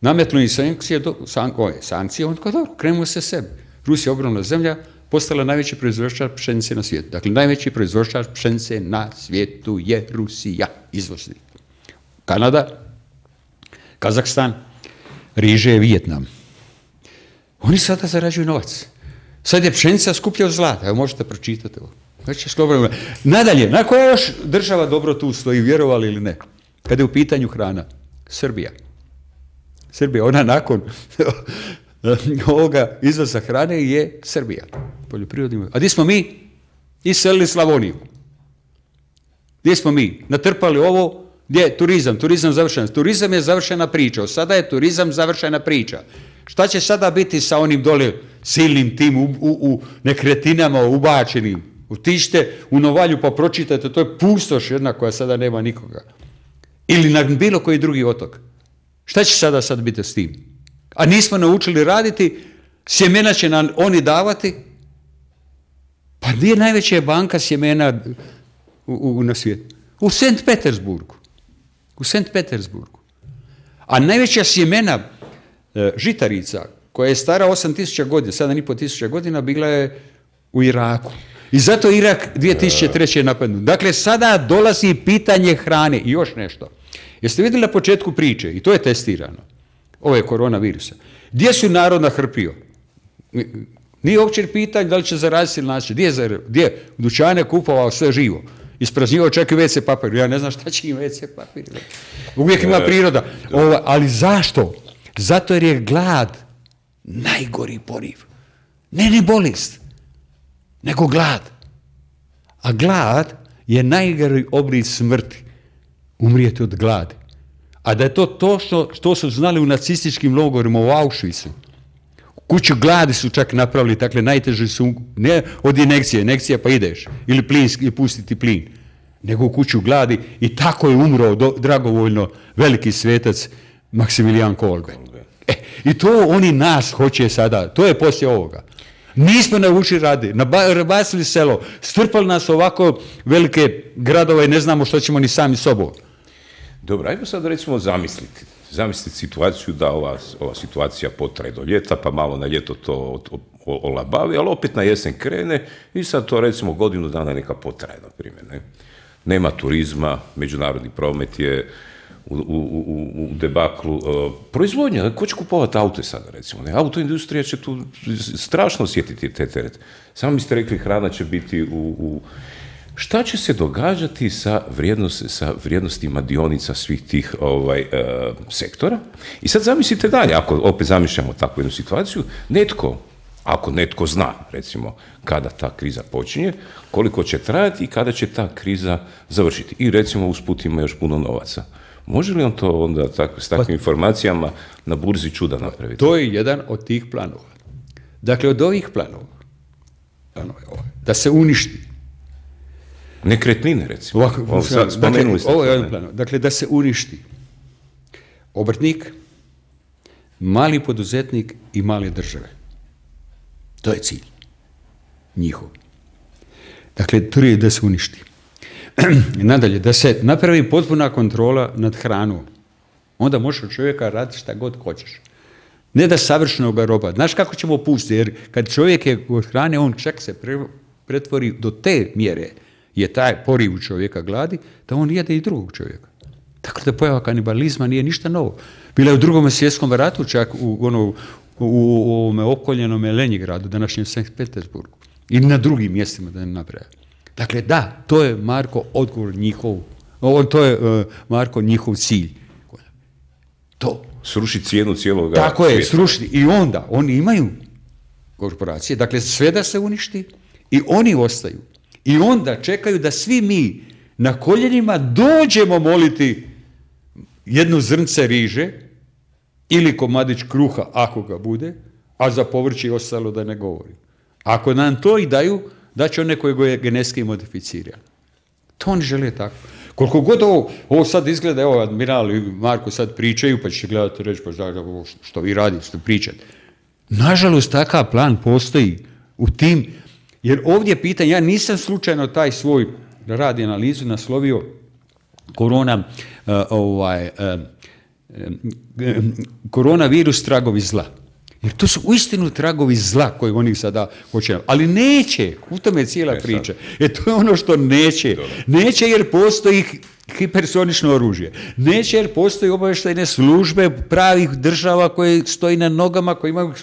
Nametnuli sankcije, on kao dobro, krenemo se sebi. Rusija, ogromna zemlja, postala najveći proizvođač pšenice na svijetu. Dakle, najveći proizvođač pšenice na svijetu je Rusija, izvoznik. Kanada, Kazahstan, riže je Vijetnam. Oni sada zarađuju novac. Sad je pšenica skuplja od zlata. Evo, možete pročitati ovo. Nadalje, na koja još država dobro tu stoji, vjerovali ili ne? Kada je u pitanju hrana? Srbija. Srbija, ona nakon ovoga izvoza hrane je Srbija. A gdje smo mi? Iselili Slavoniju. Gdje smo mi? Natrpali ovo, gdje je turizam? Turizam završen. Turizam je završena priča. Sada je turizam završena priča. Šta će sada biti sa onim dole silnim tim u nekretinama ubačenim? Otiđite u Novalju pa pročitajte, to je pustoš jedna koja sada nema nikoga. Ili na bilo koji drugi otok. Šta će sada sad biti s tim? A nismo naučili raditi, sjemena će nam oni davati. Pa gdje je najveća banka sjemena na svijetu? U St. Petersburgu. U St. Petersburgu. A najveća sjemena žitarica, koja je stara 8000 godina, 7500 godina, bila je u Iraku. I zato Irak 2003. napadnut. Dakle, sada dolazi pitanje hrane. I još nešto. Jeste vidjeli na početku priče, i to je testirano, ove koronavirusa, gdje su narod nahrpio? Nije uopće pitanje da li će zaraziti ili naći. Gdje? U dućane kupovao sve živo. Ispraznjivao čak i WC papir. Ja ne znam šta će im WC papir. Uvijek ima priroda. Ali zašto? Zato jer je glad najgori poriv. Ne ni bolest, nego glad. A glad je najgori oblik smrti. Umrijeti od gladi. A da je to što su znali u nacističkim logorima u Auschwitzu. Kuću gladi su čak napravili, dakle najteže su, ne od injekcija pa ideš, ili plinski, pustiti plin, nego u kuću gladi i tako je umro dragovoljno veliki svetac Maksimilijan Kolbe. I to oni nas hoće sada, to je poslije ovoga. Nismo naučili raditi, nabacili selo, strpali nas ovako velike gradove i ne znamo što ćemo ni sami sobom. Dobro, ajmo sad recimo zamisliti situaciju da ova situacija potraje do ljeta, pa malo na ljeto to olabavi, ali opet na jesen krene i sad to recimo godinu dana neka potraje, na primjer. Nema turizma, međunarodni promet je u debaklu. Proizvodnja, ko će kupovati aute sada recimo? Autoindustrija će tu strašno osjetiti te terete. Samo mi ste rekli hrana će biti Šta će se događati sa vrijednostima dionica svih tih sektora? I sad zamislite dalje, ako opet zamišljamo takvu jednu situaciju, ako netko zna, recimo, kada ta kriza počinje, koliko će trajati i kada će ta kriza završiti. I recimo usput ima još puno novaca. Može li on to onda s takvim informacijama na burzi čuda napraviti? To je jedan od tih planova. Dakle, od ovih planova da se uništi. Nekretnine, recimo. Spomenuli ste. Ovo je jedan plan. Dakle, da se uništi obrtnik, mali poduzetnik i male države. To je cilj njihov. Dakle, to je da se uništi. Nadalje, da se napravi potpuna kontrola nad hranom. Onda možeš od čovjeka raditi šta god hoćeš. Ne da savršeno ga roba. Znaš kako ćemo pustiti? Jer kad čovjek je od hrane, on čak se pretvori do te mjere, je taj poriv u čovjeka gladi, da on jede i drugog čovjeka. Tako da pojava kanibalizma nije ništa novo. Bila je u Drugom svjetskom ratu, čak u ovome opkoljenom Lenjingradu, današnjem Sankt Petersburgu. I na drugim mjestima da ne nabraja. Dakle, da, to je, Marko, odgovor njihov To je, Marko, njihov cilj. To. Srušiti cijenu cijelog Tako je, srušiti. I onda, oni imaju korporacije, dakle sve da se uništi i oni ostaju. I onda čekaju da svi mi na koljenima dođemo moliti jednu zrnce riže ili komadić kruha, ako ga bude, a za povrće i ostalo da ne govorim. Ako nam to i daju, daće one koje je genetski modificirano. To oni žele tako. Koliko god ovo sad izgleda, evo, Admiral i Marko sad pričaju, pa ćete gledati reći, pa što vi radite, što pričate. Nažalost, takav plan postoji u tim, jer ovdje pitanje, ja nisam slučajno taj svoj rad i analizu naslovio koronavirus tragovi zla. Jer to su uistinu tragovi zla koje oni sada hoće. Ali neće, u tome je cijela priča. To je ono što neće. Neće jer postoji hipersonično oružje. Neće jer postoji obavještajne službe pravih država koje stoji na nogama, koje imaju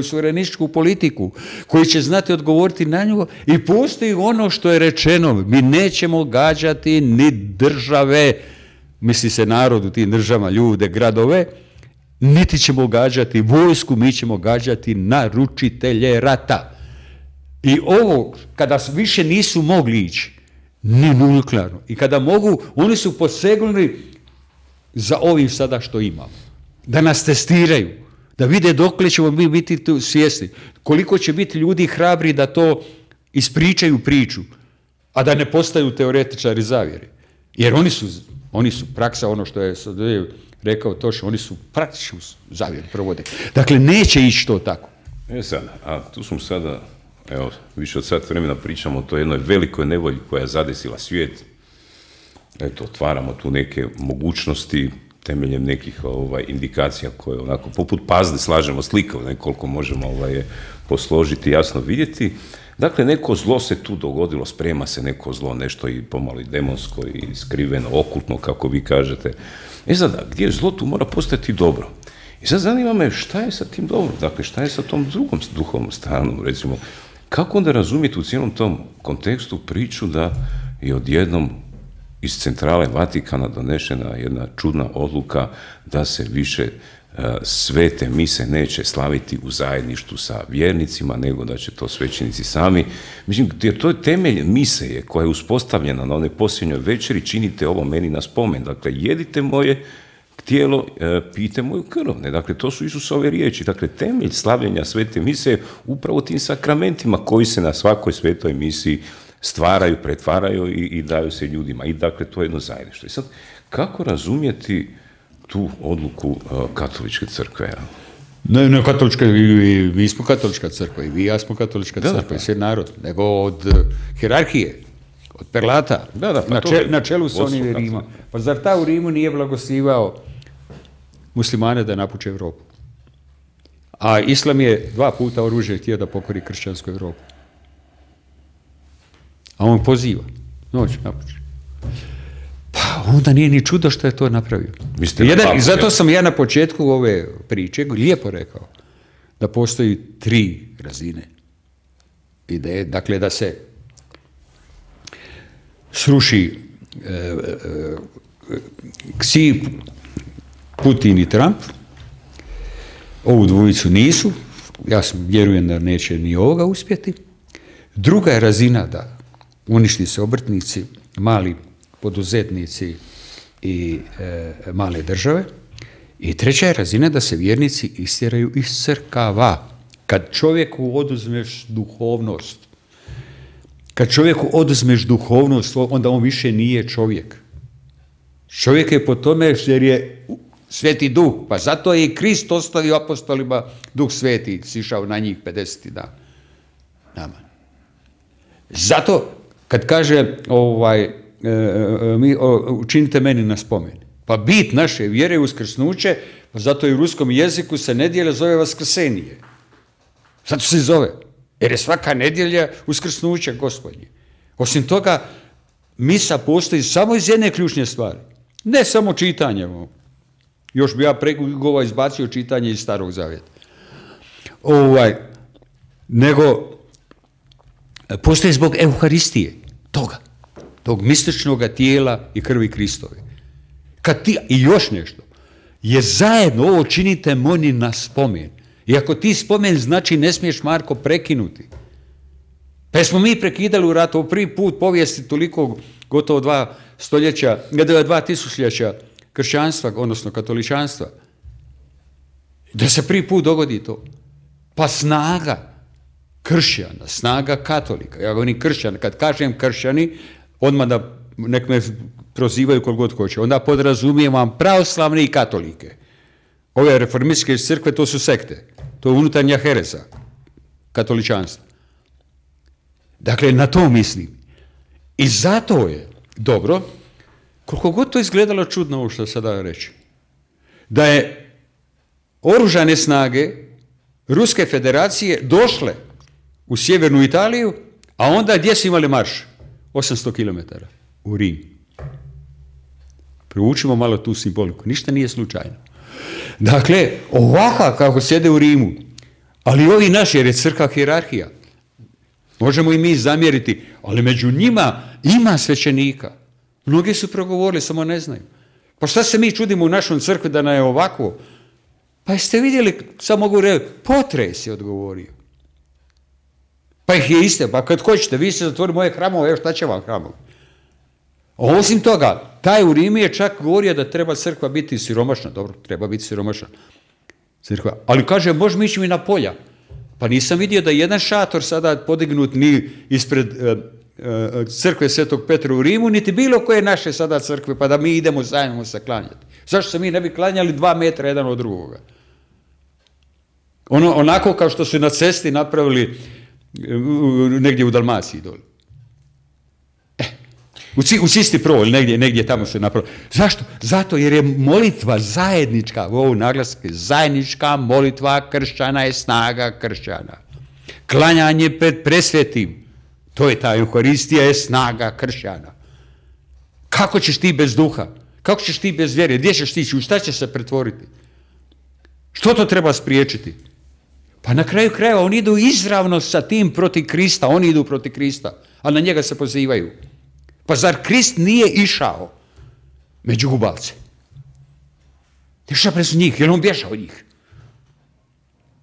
suverenističku politiku, koji će znati odgovoriti na nju. I postoji ono što je rečeno. Mi nećemo gađati ni države, misli se narod u tim državama, ljude, gradove, niti ćemo gađati vojsku, mi ćemo gađati naručitelje rata. I ovo, kada više nisu mogli ići, ni nuklearno, i kada mogu, oni su posegnuli za ovim sada što imamo. Da nas testiraju, da vide dokle ćemo mi biti tu svjesni, koliko će biti ljudi hrabri da to ispričaju priču, a da ne postaju teoretičari zavjere. Jer oni su praksa, ono što je rekao Toša, oni su praktičnu zavjeru provode. Dakle, neće ići to tako. Sad, a tu smo sada, evo, više od sat vremena pričamo o toj jednoj velikoj nevolji koja je zadesila svijet. Eto, otvaramo tu neke mogućnosti temeljem nekih indikacija koje onako, poput pazde slažemo sliku, koliko možemo posložiti, jasno vidjeti. Dakle, neko zlo se tu dogodilo, sprema se neko zlo, nešto i pomalo i demonsko i skriveno, okultno, kako vi kažete. Sada, gdje je zlo, tu mora postati dobro. I sad zanima me šta je sa tim dobrom, dakle, šta je sa tom drugom duhovnom stranom, recimo, kako onda razumjeti u cijelom tom kontekstu priču da je odjednom iz centrale Vatikana donešena jedna čudna odluka da se više svete mise neće slaviti u zajedništvu sa vjernicima, nego da će to svećenici sami. Mislim, jer to je temelj mise koja je uspostavljena na onoj posljednjoj večeri, činite ovo meni na spomen. Dakle, jedite moje tijelo, pijte moju krv. Dakle, to su Isusove riječi. Dakle, temelj slavljenja svete mise je upravo tim sakramentima koji se na svakoj svetoj misiji stvaraju, pretvaraju i daju se ljudima. I dakle, to je jedno zajedništvo. I sad, kako razumjeti tu odluku katoličke crkve? Ne katolička, mi smo katolička crkva, i vi i ja smo katolička crkva, i sve narod, nego od hijerarhije, od perlata, na čelu su oni Rima. Pa zar ta u Rimu nije blagosivao muslimane da napuče Europu? A Islam je 2 puta oružje htio da pokori kršćansku Europu. A on poziva, noć napuče. Pa onda nije ni čudo što je to napravio. I zato sam ja na početku ove priče lijepo rekao da postoji 3 razine ideje. Dakle, da se sruši Ksi, Putin i Trump. Ovu dvojicu nisu. Ja vjerujem da neće ni ovoga uspjeti. Druga je razina da uništi se obrtnici, mali poduzetnici i male države. I treća je razina da se vjernici istjeraju iz crkava. Kad čovjeku oduzmeš duhovnost, onda on više nije čovjek. Čovjek je po tome jer je Sveti Duh, pa zato je i Krist ostavio apostolima Duh Sveti, sišao na njih 50 dana. Nama. Zato, kad kaže učinite meni na spomen. Pa bit naše vjere je uskrsnuće, pa zato i u ruskom jeziku se nedjelja zove vaskrsenije. Zato se zove. Jer je svaka nedjelja uskrsnuće Gospodnje. Osim toga, misa postoji samo iz jedne ključne stvari. Ne samo čitanje. Još bi ja izbacio čitanje iz Starog Zavjeta. Nego postoji zbog Euharistije. Toga. tog mističnog tijela i krvi Kristove. I još nešto, je zajedno ovo činite moni na spomen. I ako ti spomen, znači ne smiješ, Marko, prekinuti. Pa smo mi prekidali u ratu, prvi put povijesti toliko, gotovo 2000 kršćanstva, odnosno katoličanstva, da se prvi put dogodi to. Pa snaga kršćana, snaga katolika, ja govorim kršćana, kad kažem kršćani, odmah da nek me prozivaju koliko god hoće, onda podrazumijevam pravoslavne i katolike. Ove reformističke crkve, to su sekte, to je unutarnja hereza, katoličanstva. Dakle, na to mislim. I zato je dobro, koliko god to izgledalo čudno ovo što sada reći, da je oružane snage Ruske federacije došle u sjevernu Italiju, a onda gdje su imali marš? 800 km u Rim. Proučimo malo tu simboliku. Ništa nije slučajno. Dakle, ovaka kako sjede u Rimu, ali ovi naši, jer je crkva hijerarhija, možemo i mi zamjeriti, ali među njima ima svećenika. Mnogi su progovorili, samo ne znaju. Pa šta se mi čudimo u našoj crkvi da nam je ovako? Pa jeste vidjeli, samo mogu reći, potres je odgovorio. Pa ih je iste, pa kad hoćete, vi ste zatvorili moje hramove, evo šta će vam hramove? Osim toga, taj u Rimu je čak govorio da treba crkva biti siromašna. Dobro, treba biti siromašna crkva. Ali kaže, možemo ići mi na polja. Pa nisam vidio da jedan šator sada podignut ni ispred crkve Svetog Petra u Rimu, niti bilo koje naše sada crkve, pa da mi idemo zajedno se klanjati. Zašto se mi ne bi klanjali 2 metra jedan od drugoga? Onako kao što su na cesti napravili negdje u Dalmaciji dole. U Cisti Pro, negdje tamo se napravili. Zašto? Zato jer je molitva zajednička, ovo naglaske, zajednička molitva kršćana je snaga kršćana. Klanjanje pred presvetim, to je ta Euharistija, je snaga kršćana. Kako ćeš ti bez duha? Kako ćeš ti bez vjere? Gdje ćeš ti? U šta će se pretvoriti? Što to treba spriječiti? Pa na kraju krajeva oni idu izravno sa tim protiv Krista, oni idu protiv Krista, a na njega se pozivaju. Pa zar Krist nije išao među gubavce? Išao presu njih, jer on bježao od njih.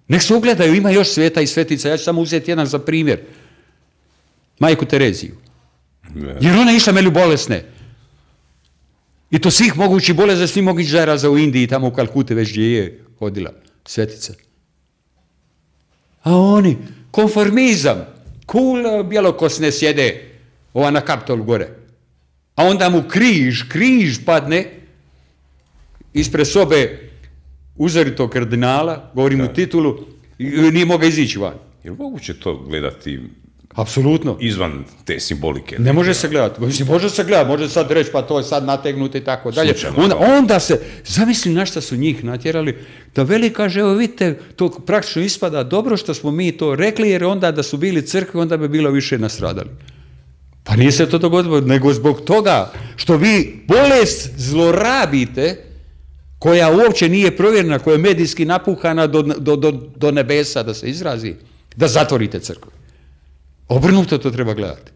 Nek se ugledaju, ima još sveta i svetica, ja ću samo uzeti jedan za primjer. Majku Tereziju. Jer ona je išla među bolesne. I to svih mogućih boleza, svih mogućih zaraza u Indiji, tamo u Kalkuti već gdje je hodila svetica. A oni, konformizam, bjelokosne sjede, ova na Kapitolu gore. A onda mu križ padne ispred sobe uzoritog kardinala, govorim u titulu, i nije mogao izići van. Je li moguće to gledati apsolutno izvan te simbolike? Ne može se gledati. Može se gledati, može sad reći pa to je sad nategnuto i tako dalje. Onda se, zamisli na šta su njih natjerali, da veli kaže, evo vidite, to praktično ispada dobro što smo mi to rekli, jer onda da su bili crkve, onda bi bilo više nastradali. Pa nije se to dogodilo, nego zbog toga što vi bolest zlorabite, koja uopće nije provjerena, koja je medijski napuhana do nebesa, da se izrazi, da zatvorite crkvu. Obrnuto to treba gledati.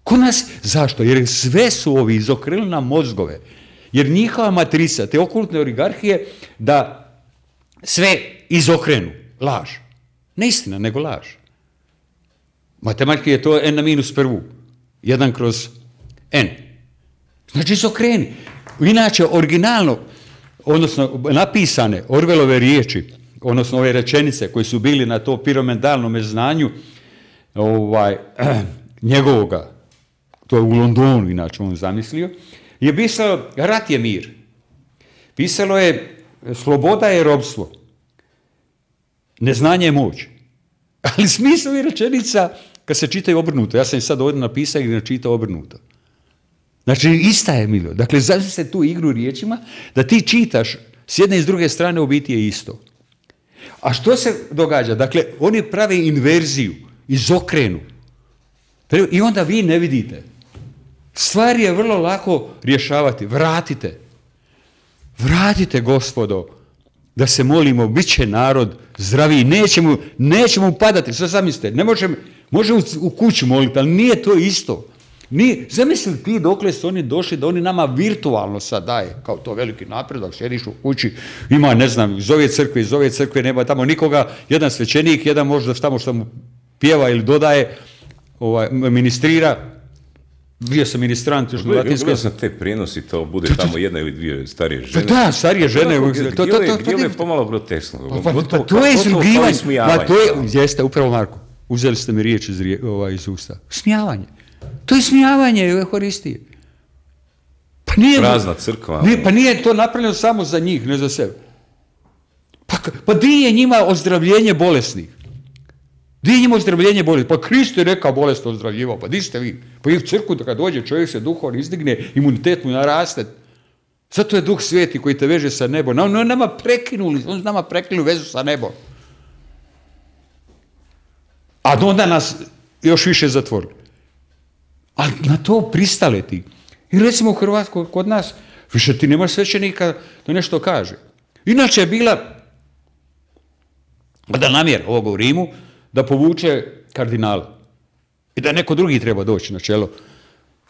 Kod nas, zašto? Jer sve su ovi izokrenuli na mozgove. Jer njihova matrica, te okultne oligarhije, da sve izokrenu. Laž. Ne istina, nego laž. Matematika je to n na minus prvu. 1/n. Znači izokreni. Inače, originalno, odnosno napisane Orwellove riječi, odnosno ove rečenice koje su bili na to piramidalnom znanju njegovoga, to je u Londonu inače on zamislio, je pisalo rat je mir. Pisalo je sloboda je robstvo. Neznanje je moć. Ali smisao je rečenica kad se čitaju obrnuto. Ja sam sad ovdje napisao i načitao obrnuto. Znači, ista je milo. Dakle, zamislite tu igru riječima, da ti čitaš s jedne i s druge strane u biti je isto. A što se događa? Dakle, oni prave inverziju, izokrenu. I onda vi ne vidite. Stvari je vrlo lako rješavati. Vratite, gospodo, da se molimo, bit će narod zdraviji, nećemo padati. Što zamislite? Može u kuću moliti, ali nije to isto. Zamisli ti dokle su oni došli da oni nama virtualno sad daje, kao to veliki napredak, sjediš u kući, ima, ne znam, iz ove crkve, nema tamo nikoga, jedan svećenik, jedan možda tamo što mu pjeva ili dodaje, ministrira, bio sam ministrant još na latinskoj. Gledao sam te prijenosi, to bude tamo jedna ili dvije starije žene. Da, starije žene. Gdje je pomalo groteskno. To je izrugivanje. Jeste, upravo Marko, uzeli ste mi riječ iz usta. Smijavanje. To je smijavanje Euharistije. Prazna crkva. Pa nije to napravljeno samo za njih, ne za sebe. Pa di je njima ozdravljenje bolesnih? Di je njima ozdravljenje bolesnih? Pa Krist je rekao bolest ozdravljivao, pa di ste vi? Pa i u crkvu kad dođe čovjek se duhovno izdigne, imunitet mu naraste. Zato je Duh Sveti koji te veže sa nebom. On nama prekinuli vezu sa nebom. A onda nas još više zatvorili. Ali na to pristale ti. I recimo u Hrvatskoj, kod nas, više ti nemaš svećenika da nešto kaže. Inače je bila, da namjer ovog u Rimu, da povuče kardinala. I da neko drugi treba doći na čelo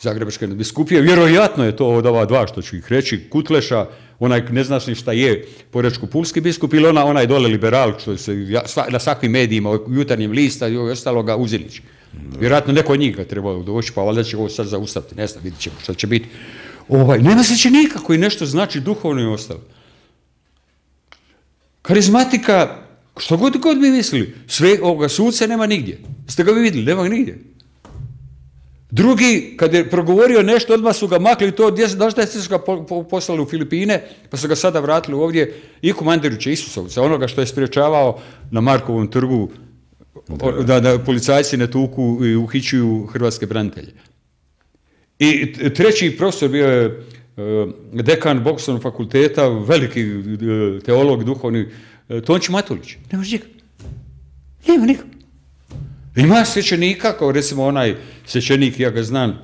Zagrebačke biskupije. Vjerojatno je to od ova dva, što ću ih reći, Kutleša, onaj ne znaš ni šta je Porečko-pulski biskup, ili onaj dole liberal, što se na svakvim medijima, u Jutarnjem lista i ostaloga Uzilić. Vjerojatno neko od njih ga trebalo doći, pa valjda će ovo sad zaustaviti, ne znam, vidit ćemo šta će biti. Nema svećenika koji nešto znači duhovno i ostalo. Karizmatika, što god bi mislili, sve ovoga suca nema nigdje. Ste ga vi vidjeli? Nema ga nigdje. Drugi, kad je progovorio nešto, odmah su ga makli to, znaš da su ga poslali u Filipine, pa su ga sada vratili ovdje, Iku Mandiruća, Isusovca, onoga što je spriječavao na Markovom trgu da policajci ne tuku i uhićuju hrvatske branitelje. I treći profesor bio je dekan Bogoslovnog fakulteta, veliki teolog, duhovni, Tonči Matulić. Nemaš nikak. Nema nikak. Ima svećenika, kao recimo onaj svećenik, ja ga znam,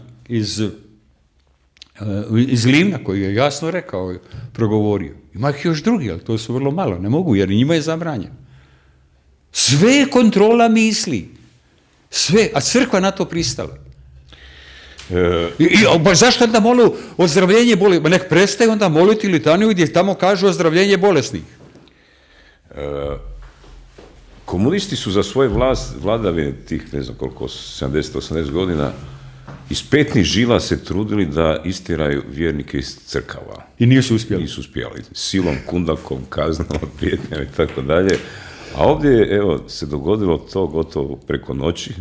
iz Livna, koji je jasno rekao, progovorio. Ima ih još drugi, ali to su vrlo malo, ne mogu, jer njima je zabranjeno. Sve je kontrola misli. Sve, a crkva na to pristala. Zašto onda molu ozdravljenje bolesnih? Nek prestaju onda moliti litaniju gdje tamo kažu ozdravljenje bolesnih. Komunisti su za svoje vladavine tih, ne znam koliko, 70-80 godina, iz petnih žila se trudili da istiraju vjernike iz crkava. I nisu uspjeli. Nisu uspjeli. Silom, kundakom, kaznom, prijetnjama i tako dalje. A ovdje je, evo, se dogodilo to gotovo preko noći,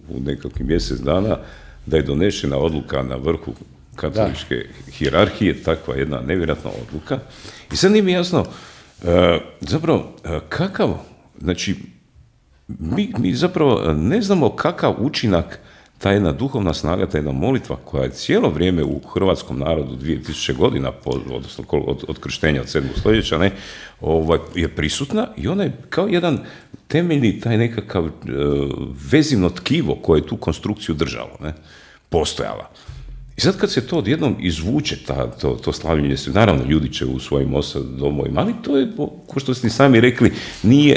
u nekakvih mjesec dana, da je donešena odluka na vrhu katoličke hijerarhije, takva jedna nevjerojatna odluka. I sad nije mi jasno, zapravo, kakav, znači, mi zapravo ne znamo kakav učinak ta jedna duhovna snaga, ta jedna molitva koja je cijelo vrijeme u hrvatskom narodu 2000 godina, odnosno od krštenja od 7. stoljeća, je prisutna i ona je kao jedan temeljni, taj nekakav vezivno tkivo koje je tu konstrukciju držalo, postojala. I sad kad se to odjednom izvuče, to slavljenje, naravno ljudi će u svojim domovima, ali to je, kao što ste sami rekli,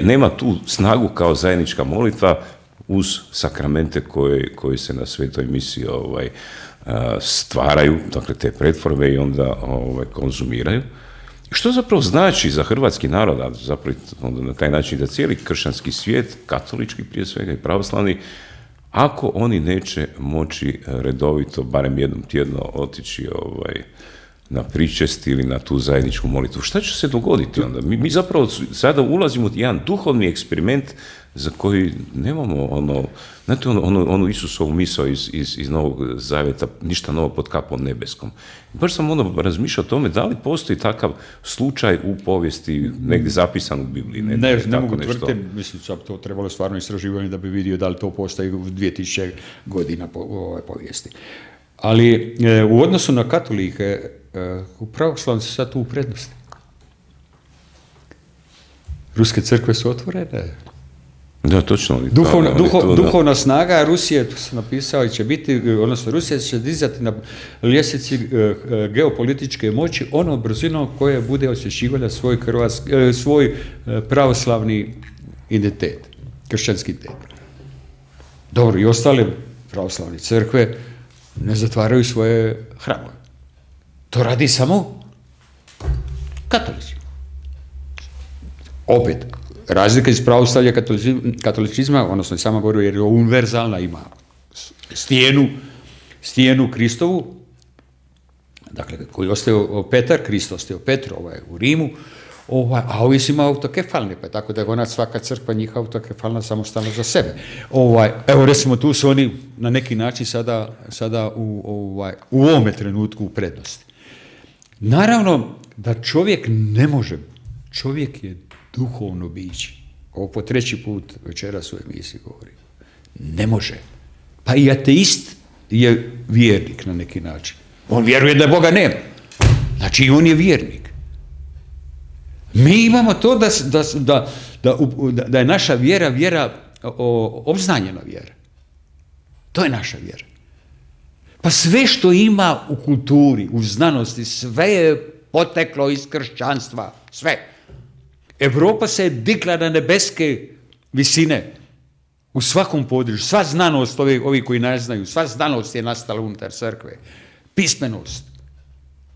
nema tu snagu kao zajednička molitva uz sakramente koje se na svetoj misi stvaraju, dakle te pretvorbe i onda konzumiraju. Što zapravo znači za hrvatski narod, a zapravo onda na taj način da cijeli kršćanski svijet, katolički prije svega i pravoslavni, ako oni neće moći redovito, barem jednom tjedno, otići na pričest ili na tu zajedničku molitvu, šta će se dogoditi onda? Mi zapravo sada ulazimo u jedan duhovni eksperiment za koji nemamo onu Isusovu misao iz Novog Zavjeta, ništa novo pod kapom nebeskom. Baš sam razmišljao o tome da li postoji takav slučaj u povijesti negdje zapisan u Bibliji. Ne mogu tvrditi, mislim da to trebalo stvarno istraživanje da bi vidio da li to postoji u 2000 godina povijesti. Ali u odnosu na katolike, u pravoslavni su sad tu u prednosti. Ruske crkve su otvorene. Da, točno. Duhovna snaga Rusije, tu sam napisao, će biti, odnosno Rusija će dizati na ljestvici geopolitičke moći onom brzinom koje bude osvješćivala svoj pravoslavni identitet, kršćanski identitet. Dobro, i ostale pravoslavne crkve, ne zatvaraju svoje hramove. To radi samo katolici. Opet, razlika iz pravoslavlja katolicizma, odnosno sama govori jer je univerzalna, ima stijenu Kristovu, dakle, koji ostao Petar, Krist ostao Petru u Rimu, a ovi su ima autokefalne, pa tako da je ona svaka crkva njih autokefalna samostalno za sebe. Evo recimo tu su oni na neki način sada u ovome trenutku u prednosti. Naravno da čovjek ne može, čovjek je duhovno biće. Ovo po treći put večeras u emisiji govorim. Ne može. Pa i ateist je vjernik na neki način. On vjeruje da Boga nema. Znači i on je vjernik. Mi imamo to da je naša vjera obznanjena vjera. To je naša vjera. Pa sve što ima u kulturi, u znanosti, sve je poteklo iz kršćanstva. Sve. Evropa se je digla na nebeske visine u svakom području. Sva znanost, ovi koji ne znaju, sva znanost je nastala unutar crkve. Pismenost.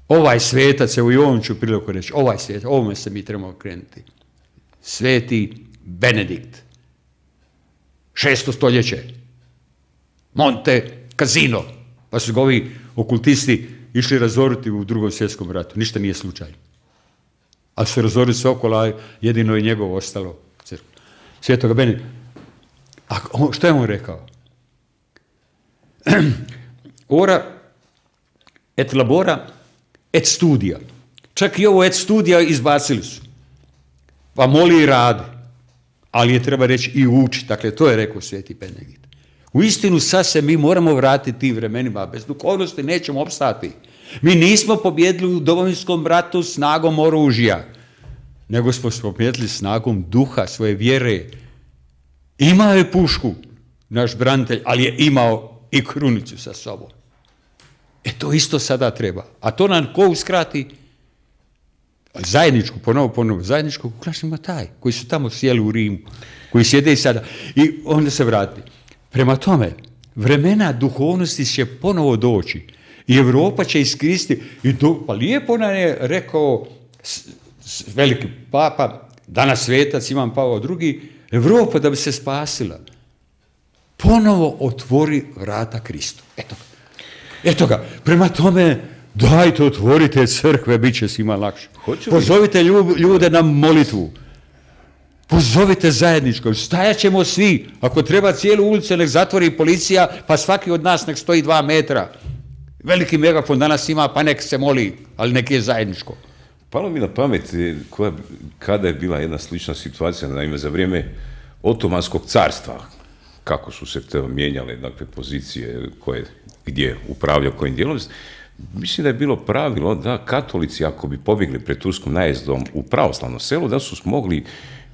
Ovaj svetac, evo i ovom ću priliku reći, ovaj svetac, ovome se mi trebamo krenuti. Sveti Benedikt. 6. stoljeće. Monte Cassino. Pa su ga ovi okultisti išli razoriti u Drugom svjetskom ratu. Ništa nije slučajno. Ali su razorili sve okolo, a jedino je njegovo ostalo crkva. Svetoga Benedikta. A što je on rekao? Ora et labora et studija. Čak i ovo et studija izbacili su. Pa moli i radi. Ali je treba reći i uči. Dakle, to je rekao Sveti Benedikt. U istinu sad se mi moramo vratiti tim vremenima. Bez duhovnosti nećemo opstati. Mi nismo pobjedili u Domovinskom ratu snagom oružja, nego smo pobjedili snagom duha, svoje vjere. Imao je pušku, naš branitelj, ali je imao i krunicu sa sobom. To isto sada treba. A to nam ko uskrati? Zajedničku, ponovo, zajedničku, ukrašimo taj, koji su tamo sjeli u Rimu, koji sjede i sada. I onda se vrati. Prema tome, vremena duhovnosti će ponovo doći. I Evropa će iskoristiti. Pa lijepo nam je rekao veliki papa, danas svetac Ivan Pavao II, Evropa da bi se spasila, ponovo otvori vrata Kristu. Eto ga. Prema tome, dajte, otvorite crkve, bit će svima lakše. Pozovite ljude na molitvu. Pozovite zajedničko. Stajat ćemo svi. Ako treba cijelu ulicu, nek zatvori policija, pa svaki od nas nek stoji 2 metra. Veliki megafon danas ima, pa nek se moli, ali nek je zajedničko. Palo mi na pamet kada je bila jedna slična situacija, naime za vrijeme Otomanskog carstva, kako su se to mijenjale, dakle, pozicije gdje upravlja kojim dijelom. Mislim da je bilo pravilo da katolici, ako bi pobjegli pred turskom najezdom u pravoslavno selo, da su mogli,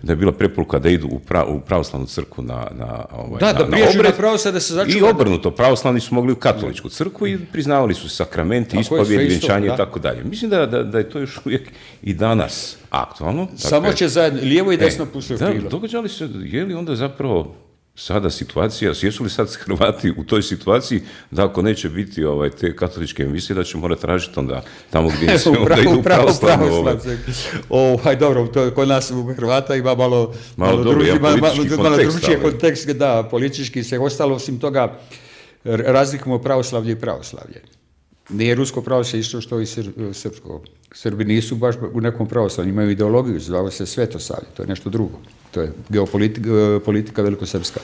da je bila preporuka da idu u pravoslavnu crkvu na obred. I obrnuto, pravoslavni su mogli u katoličku crkvu i priznavali su sakramenti, ispovjed, vjenčanje i tako dalje. Mislim da je to još uvijek i danas aktualno. Samo će zajedno, lijevo i desno pušiti krilo. Događali se, je li onda zapravo sada situacija, jesu li sad Hrvati u toj situaciji da ako neće biti te katoličke emisije, da će morati tražiti onda tamo gdje se onda idu u pravoslavnu. Dobro, kod nas u Hrvata ima malo drugačiji kontekst, da, politički se ostalo, osim toga razlikujemo pravoslavlje i pravoslavlje. Nije rusko pravoslavlje isto što i srpsko. Srbi nisu baš u nekom pravoslavlju, imaju ideologiju, zvao se Svetosavlje, to je nešto drugo. To je geopolitika velikosrpska.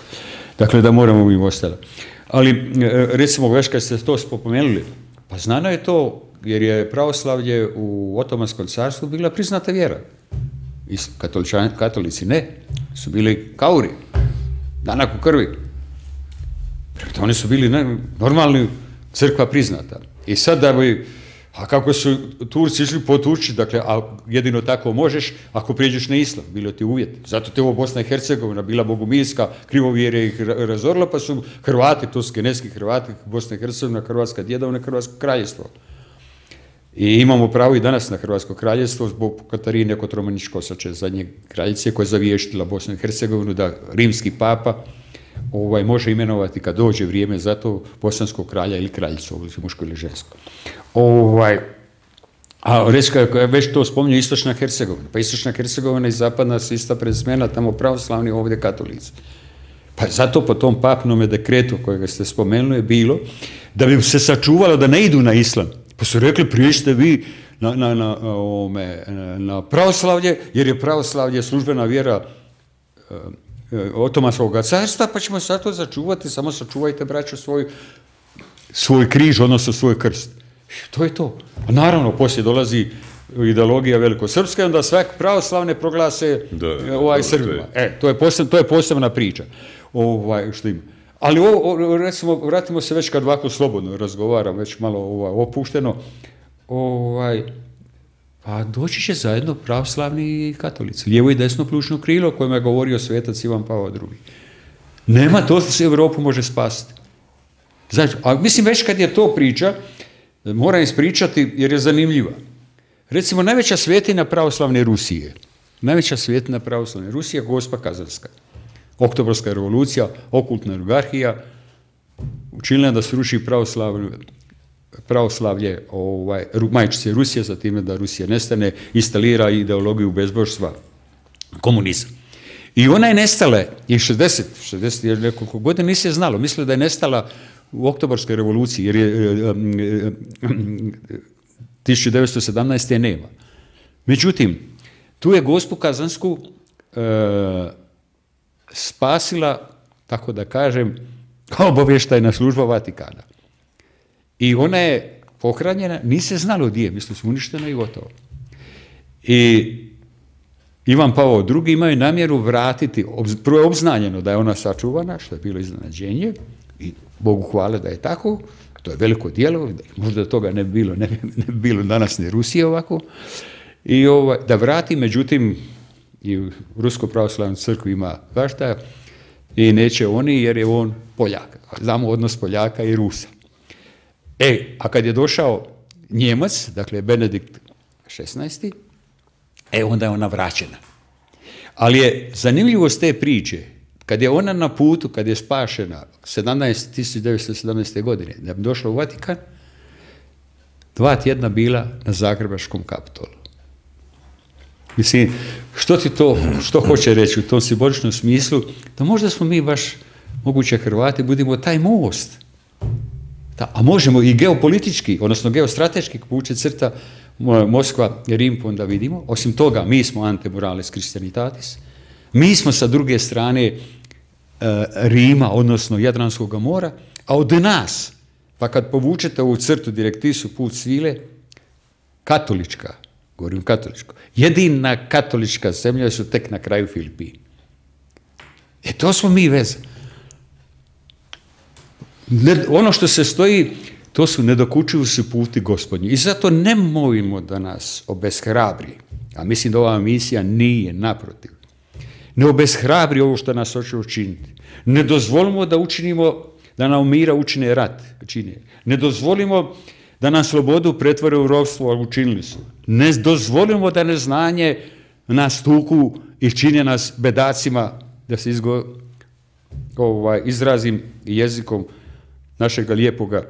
Dakle, da moramo im ostati. Ali, recimo, već kad ste to spomenuli, pa znano je to, jer je pravoslavlje u Otomanskom carstvu bila priznata vjera. I katolici ne, su bili kauri, danak u krvi. Oni su bili normalni, crkva priznata. I sad da bi, a kako su Turci išli potući, dakle, a jedino tako možeš ako prijeđeš na islam, bilo ti uvjet. Zato te ovo Bosna i Hercegovina bila bogumilska, krivovjere ih razorila, pa su Hrvati, to su genetski Hrvati, Bosna i Hercegovina, Hrvatska djedovina, Hrvatsko kraljevstvo. I imamo pravo i danas na Hrvatsko kraljevstvo zbog Katarine Kotromanić-Kosače, zadnje kraljice koja je zavještila Bosnu i Hercegovinu, da rimski papa može imenovati kad dođe vrijeme za to bosanskog kralja ili kraljicu, muško ili žensko. A reći, kako je već to spominju, Istočna Hercegovina. Pa Istočna Hercegovina i Zapadna su ista prezimena, tamo pravoslavni, ovdje katolici. Pa zato po tom papnome dekretu kojega ste spomenuli je bilo da bi se sačuvalo da ne idu na islam. Pa su rekli, priješte vi na pravoslavlje, jer je pravoslavlje službena vjera Otomanskog carstva, pa ćemo zato začuvati, samo sačuvajte, braćo, svoj križ, odnosno svoj krst. To je to. A naravno, poslije dolazi ideologija velikosrpska, onda svak pravoslavne proglase Srbima. To je posebna priča. Što ima. Ali recimo, vratimo se već kad ovako slobodno razgovaram, već malo opušteno, pa doći će zajedno pravoslavni i katolici, lijevo i desno plućno krilo o kojem je govorio svetac Ivan Pavao II. Nema, to se Europu može spasiti. Znači, a mislim već kad je to priča, moram ispričati jer je zanimljiva. Recimo, najveća svetina pravoslavne Rusije, Gospa Kazanska. Oktobarska revolucija, okultna oligarhija, učinila da se ruši pravoslavlje majčice Rusije, za time da Rusija nestane, instalira ideologiju bezbožstva, komunizam. I ona je nestala i 60 nekoliko godina nisi je znalo. Mislila da je nestala u Oktobarskoj revoluciji, jer je 1917. je nema. Međutim, tu je Gospu Kazansku spasila, tako da kažem, obavještajna služba Vatikana. I ona je pohranjena, nije se znalo gdje je, mislim su uništena i gotovo. I Ivan Pavao II imao je namjeru vratiti, prvo je obznanjeno da je ona sačuvana, što je bilo iznenađenje, i Bogu hvala da je tako, to je veliko djelo, možda toga ne bi bilo danas ni Rusije ovako, i da vrati, međutim, i u Ruskoj pravoslavnoj crkvi ima vašta i neće oni jer je on Poljak. Znamo odnos Poljaka i Rusa. A kad je došao Njemac, dakle Benedikt XVI, onda je ona vraćena. Ali je zanimljivost te priče, kad je ona na putu, kad je spašena 1917. godine, da bi došla u Vatikan, 2 tjedna bila na Zagrebačkom Kapitolu. Mislim, što hoće reći u tom simboličnom smislu, da možda smo mi baš, moguće Hrvati, budemo taj most. A možemo i geopolitički, odnosno geostrateški vuče crta Moskva i Rim, onda vidimo. Osim toga, mi smo antemurales Christianitatis. Mi smo sa druge strane Rima, odnosno Jadranskog mora, a od nas, pa kad povučete ovu crtu direktisu put svile, katolička, govorim katoličko, jedina katolička zemlja su tek na kraju Filipini. To smo mi veze. Ono što se stoji, to su nedokučivi su puti Gospodnji. I zato nemojmo da nas obeshrabri, a mislim da ova misija nije, naprotiv. Ne obeshrabri ovo što nas hoće učiniti. Ne dozvolimo da nam mira učine rat. Ne dozvolimo da nam slobodu pretvore u ropstvo, a učinili su. Ne dozvolimo da neznanje nas tuku i čine nas bedacima, da se izrazim jezikom našega lijepoga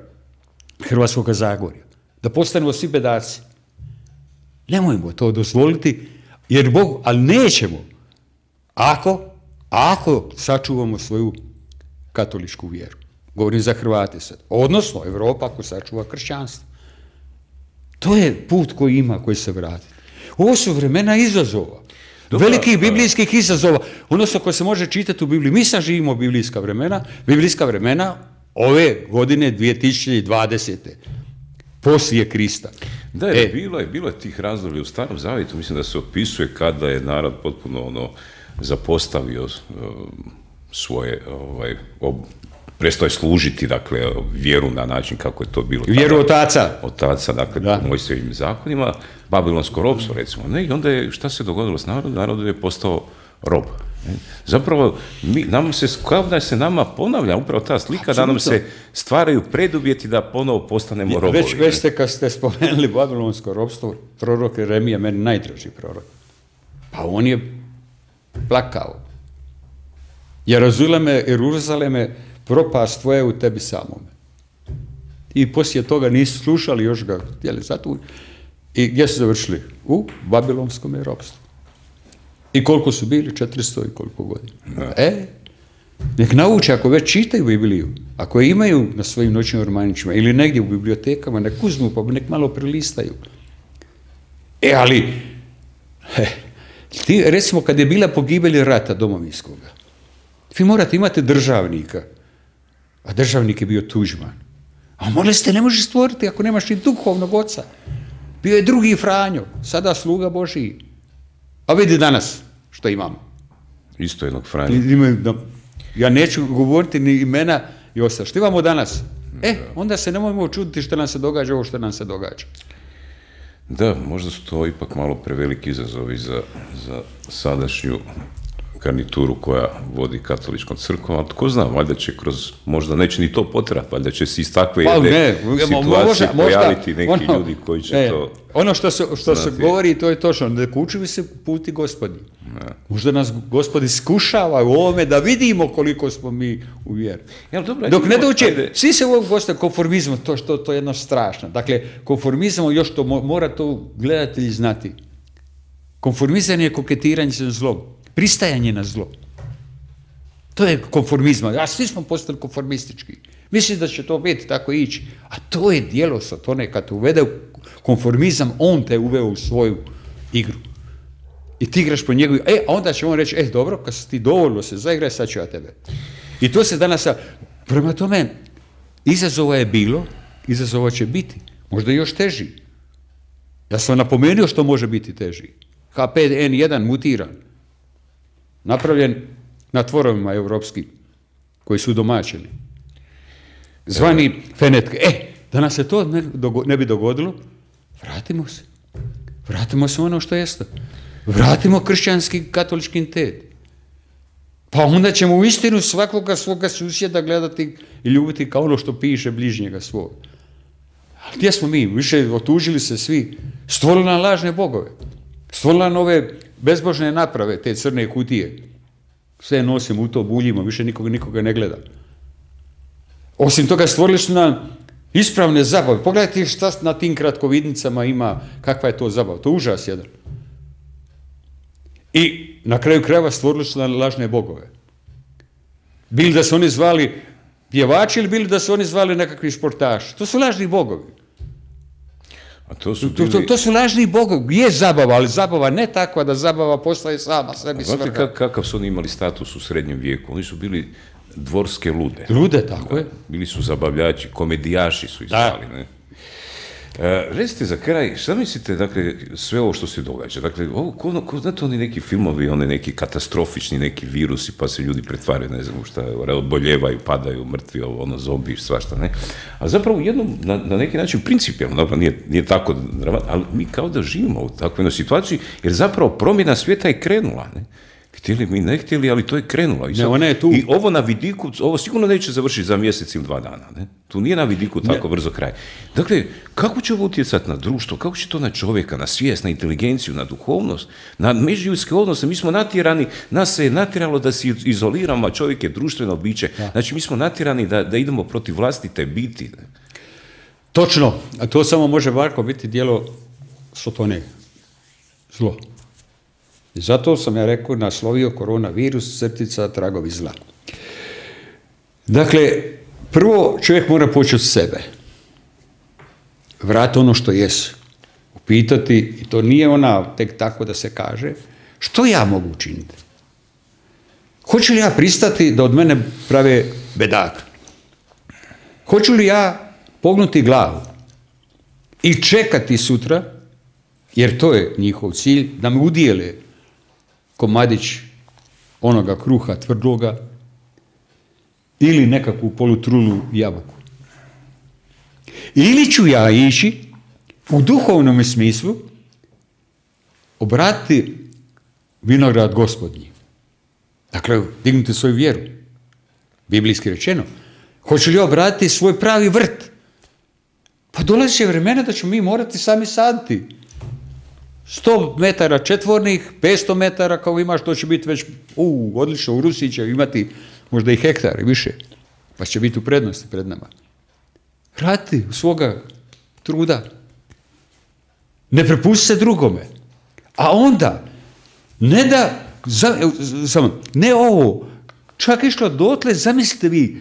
Hrvatskoga Zagorja. Da postanemo svi bedaci. Nemojmo to dozvoliti, jer Bog, ali nećemo, ako sačuvamo svoju katoličku vjeru. Govorim za Hrvate sad. Odnosno, Evropa ako sačuva kršćanstvo. To je put koji se vrati. Ovo su vremena izazova. Velikih biblijskih izazova. Odnosno, ko se može čitati u Bibliji. Mi sad živimo biblijska vremena ove godine 2020. Poslije Krista. Da, bilo je tih razdoblja u Starom Zavjetu, mislim da se opisuje kada je narod potpuno zapostavio svoje, prestao je služiti, dakle, vjeru na način kako je to bilo. Vjeru otaca. Otaca, dakle, Mojsijevim zakonima, babilonsko ropstvo, recimo. Ne? I onda je, šta se dogodilo s narodom? Narod je postao rob. Ne? Zapravo, kao da se nama ponavlja upravo ta slika, da nam se stvaraju preduvjeti da ponovo postanemo robovi. Već ste, kad ste spomenuli babilonsko ropstvo, prorok Jeremija, meni najdraži prorok. Pa on je plakao. Jeruzaleme, propast tvoja u tebi samome. I poslije toga nisu slušali, još ga htjeli zatvoriti. I gdje su završili? U babilonskom ropstvu. I koliko su bili? 400 i koliko godina. Nek nauče, ako već čitaju Bibliju, ako je imaju na svojim noćnim ormanićima ili negdje u bibliotekama, nek uzmu pa nek malo prelistaju. Ali, recimo kad je bila pogibelj rata domovinskoga, vi morate imati državnika, a državnik je bio Tuđman. A moleste, ne možeš stvoriti ako nemaš ni duhovnog oca. Bio je drugi Franjo, sada sluga Božiji. A vidi danas što imamo. Isto jednog Franja. Ja neću govoriti ni imena i ostalo. Što imamo danas? Onda se nemojmo čuditi što nam se događa ovo što nam se događa. Da, možda su to ipak malo preveliki izazovi za sadašnju garnituru koja vodi katoličkom crkvom, ali tko zna, valjda će kroz, možda neće ni to potrati, valjda će se iz takve jedne situacije pojaviti neki ljudi koji će to... Ono što se govori, to je točno, ne kučuju se puti Gospodi. Možda nas Gospod iskušava u ovome da vidimo koliko smo mi u vjeri. Dok ne dođe, svi se ovog gosta konformizma, to je jedno strašno. Dakle, konformizam, još to mora to gledatelji znati. Konformizam je koketiranje sa zlom. Pristajanje na zlo. To je konformizma. A svi smo postali konformistički. Mislim da će to biti tako ići. A to je dijelo Satane. Kad te uvede u konformizam, on te uveo u svoju igru. I ti igraš po njegovu. A onda će on reći, dobro, kad si ti dovoljno se zaigraj, sad ću ja tebe. I to se danas... Prema tome, izazova je bilo, izazova će biti. Možda još teži. Ja sam napomenuo što može biti teži. H5N1 mutiran. Napravljen na tvorovima europskim, koji su domaćeni. Zvani fenetke. Da nas se to ne bi dogodilo, vratimo se. Vratimo se ono što jeste. Vratimo kršćanski katolički entitet. Pa onda ćemo u istinu svakoga svoga susjeda gledati i ljubiti kao ono što piše bližnjega svog. A gdje smo mi? Više otužili se svi. Stvorili nam lažne bogove. Stvorili nam ove bezbožne naprave, te crne kutije. Sve nosimo u to, buljimo, više nikoga ne gleda. Osim toga stvorili su nam ispravne zabave. Pogledajte šta na tim kratkovidnicama ima, kakva je to zabava. To je užas jedan. I na kraju krajeva stvorili su nam lažne bogove. Bili da su oni zvali pjevači ili bili da su oni zvali nekakvi športaši. To su lažni bogovi. A to su lažni bogovi. Je zabava, ali zabava ne takva da zabava postaje sama sebi svrha. Znate kakav su oni imali status u srednjem vijeku? Oni su bili dvorske lude. Lude, tako je. Bili su zabavljači, komedijaši su ih zvali, ne? Recite za kraj, šta mislite, dakle, sve ovo što se događa? Dakle, znate oni neki filmovi, oni neki katastrofični, neki virusi, pa se ljudi pretvaraju, ne znam šta, odboljevaju, padaju, mrtvi, zombi, svašta, ne? A zapravo na neki način principijalno, nije tako dramatno, ali mi kao da živimo u takvoj jednoj situaciji, jer zapravo promjena svijeta je krenula, ne? Htjeli mi, ne htjeli, ali to je krenulo. I ovo na vidiku, ovo sigurno neće završiti za mjesec ili 2 dana. Ne? Tu nije na vidiku tako brzo kraj. Dakle, kako će ovo utjecati na društvo, kako će to na čovjeka, na svijest, na inteligenciju, na duhovnost, na međuljudske odnose? Mi smo natjerani, nas se je natjeralo da se izoliramo, a čovjek je društveno biće. Znači, mi smo natjerani da idemo protiv vlastite biti. Ne? Točno, a to samo može Varko biti djelo Satane. Zlo. I zato sam ja rekao, naslovio koronavirus, tragovi zla. Dakle, prvo čovjek mora početi od sebe. Vrati ono što jesu. Upitati, i to nije ona tek tako da se kaže, što ja mogu učiniti? Hoću li ja pristati da od mene prave bedaka? Hoću li ja pognuti glavu i čekati sutra, jer to je njihov cilj, da me udijele komadić onoga kruha tvrdloga ili nekakvu polutrulu jabuku. Ili ću ja ići u duhovnom smislu obratiti vinograd Gospodnji. Dakle, dignuti svoju vjeru. Biblijski rečeno. Hoću li obratiti svoj pravi vrt? Pa dolazi će vremena da ćemo mi morati sami saditi 100 metara četvornih, 500 metara kao imaš, to će biti već, odlično, u Rusiji će imati možda i hektare više, pa će biti u prednosti pred nama. Radi u svoga truda. Ne prepusti se drugome. A onda, ne ovo, čak išlo dotle, zamislite vi,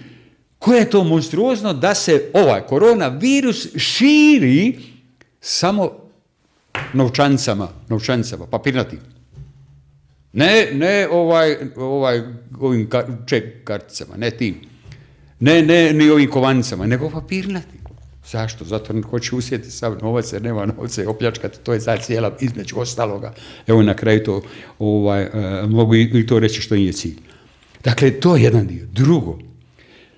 koje je to monstruozno da se ovaj koronavirus širi samo novčanicama, papirnatim. Ne ovim ček karticama, ne tim. Ne ni ovim kovanicama, nego papirnatim. Zašto? Zato ne hoće usjeti sav novac, jer nema novca i opljačkati, to je sad cijela između ostaloga. Evo na kraju to, mogu i to reći što nije cilj. Dakle, to je jedan dio. Drugo,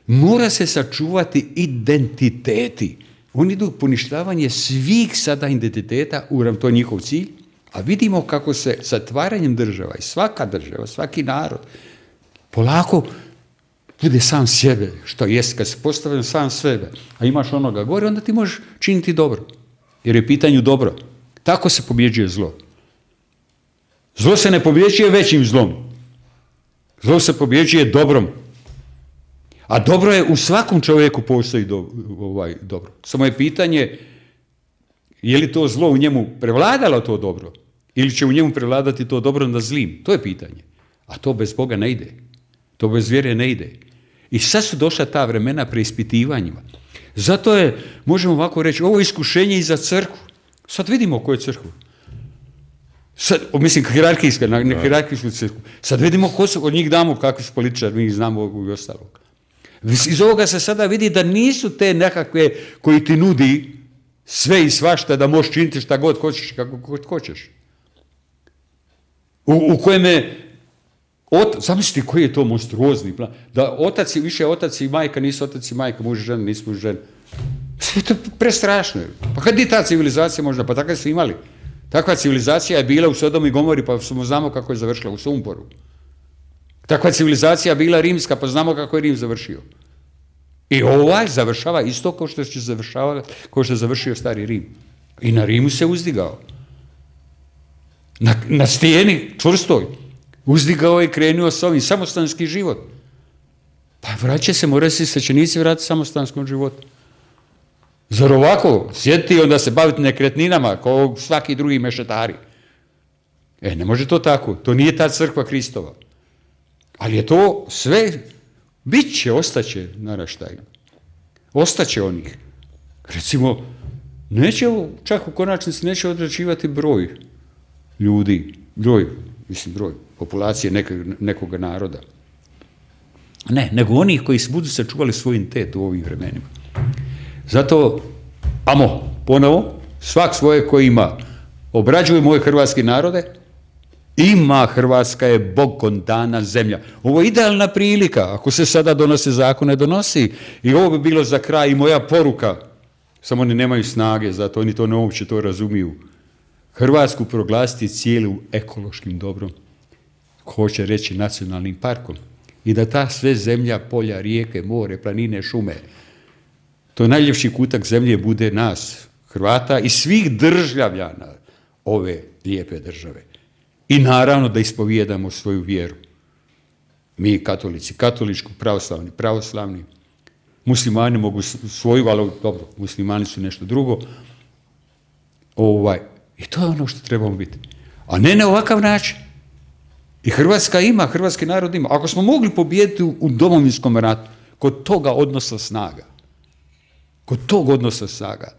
mora se sačuvati identiteti. Oni idu poništavanje svih sada identiteta, to je njihov cilj, a vidimo kako se zatvaranjem država i svaka država, svaki narod, polako bude sam sebe, što jest, kad se postavljam sam sebe, a imaš onoga gore, onda ti možeš činiti dobro. Jer je pitanju dobro. Tako se pobjeđuje zlo. Zlo se ne pobjeđuje većim zlom. Zlo se pobjeđuje dobrom. A dobro je, u svakom čovjeku postoji dobro. Samo je pitanje, je li to zlo u njemu prevladalo to dobro? Ili će u njemu prevladati to dobro nad zlim? To je pitanje. A to bez Boga ne ide. To bez vjere ne ide. I sad su došla ta vremena preispitivanjima. Zato je, možemo ovako reći, ovo iskušenje i za crkvu. Sad vidimo koju je crkvu. Sad, mislim, hijerarhijsku crkvu. Sad vidimo ko su, od njih damo kakvi su političari, mi znamo ovog i ostalog. Iz ovoga se sada vidi da nisu te nekakve koji ti nudi sve i svašta da možeš činiti šta god hoćeš, kako god hoćeš. U kojem je, zamislite koji je to monstruozni plan, da više otac i majka nisu otac i majka, muž i žena, nisu muž i žena. Sve to prestrašno. Pa kad je ta civilizacija možda, pa takve su imali. Takva civilizacija je bila u Sodomu i Gomori, pa znamo kako je završila, u sumporu. Takva civilizacija bila rimska, pa znamo kako je Rim završio. I ovaj završava isto kao što je završio stari Rim. I na Rimu se uzdigao. Na stijeni čvrstoj. Uzdigao je i krenuo s ovim samostanski život. Pa vraća se, moraju se svećenici vratiti samostanskom životu. Zar ovako sjediti i onda se baviti nekretninama kao svaki drugi mešetari? Ne može to tako. To nije ta crkva Kristova. Ali je to sve, bit će, ostaće naraštaj. Ostaće onih. Recimo, čak u konačnici neće određivati broj ljudi, broj populacije nekoga naroda. Ne, nego onih koji budu sačuvali svoj identitet u ovim vremenima. Zato, ponovo, svak svoje koji ima, obrađuje moje hrvatski narode, ima, Hrvatska je Bogom dana zemlja. Ovo je idealna prilika, ako se sada donose zakone, donosi. I ovo bi bilo za kraj i moja poruka, samo oni nemaju snage, zato oni to ne uopće to razumiju. Hrvatsku proglasiti cijelu ekološkim dobrom, hoće reći nacionalnim parkom. I da ta sve zemlja, polja, rijeke, more, planine, šume, to najljepši kutak zemlje bude nas, Hrvata i svih državljana ove lijepe države. I naravno da ispovijedamo svoju vjeru. Mi katolici, katoličku, pravoslavni. Muslimani mogu svoju, ali dobro, muslimani su nešto drugo. I to je ono što trebamo biti. A ne na ovakav način. I Hrvatska ima, hrvatski narod ima. Ako smo mogli pobijediti u Domovinskom ratu, kod toga odnosa snaga,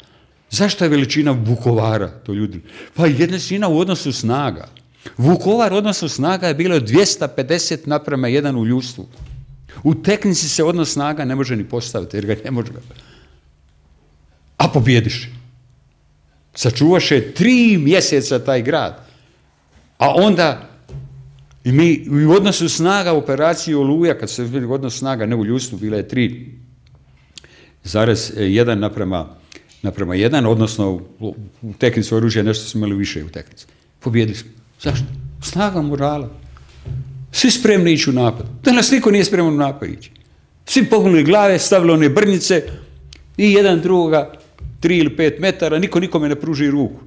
zašto je veličina Vukovara, to ljudi? Pa jednina u odnosu snaga. Vukovar odnosu snaga je bilo 250:1 u ljudstvu. U tehnici se odnos snaga ne može ni postaviti, jer ga ne može. A pobjediš. Sačuvaš je 3 mjeseca taj grad. A onda i mi u odnosu snaga operaciju Oluja, kad se vidi odnos snaga, ne u ljudstvu, bila je 3:1:1, odnosno u tehnici oružja nešto smo imali više u tehnici. Pobjedili smo. Zašto? Snaga morala. Svi spremni ići u napad. Danas niko nije spreman u napad ići. Svi pognuli glave, stavili one brnjice i jedan drugoga 3 ili 5 metara, niko nikome ne pruži ruku.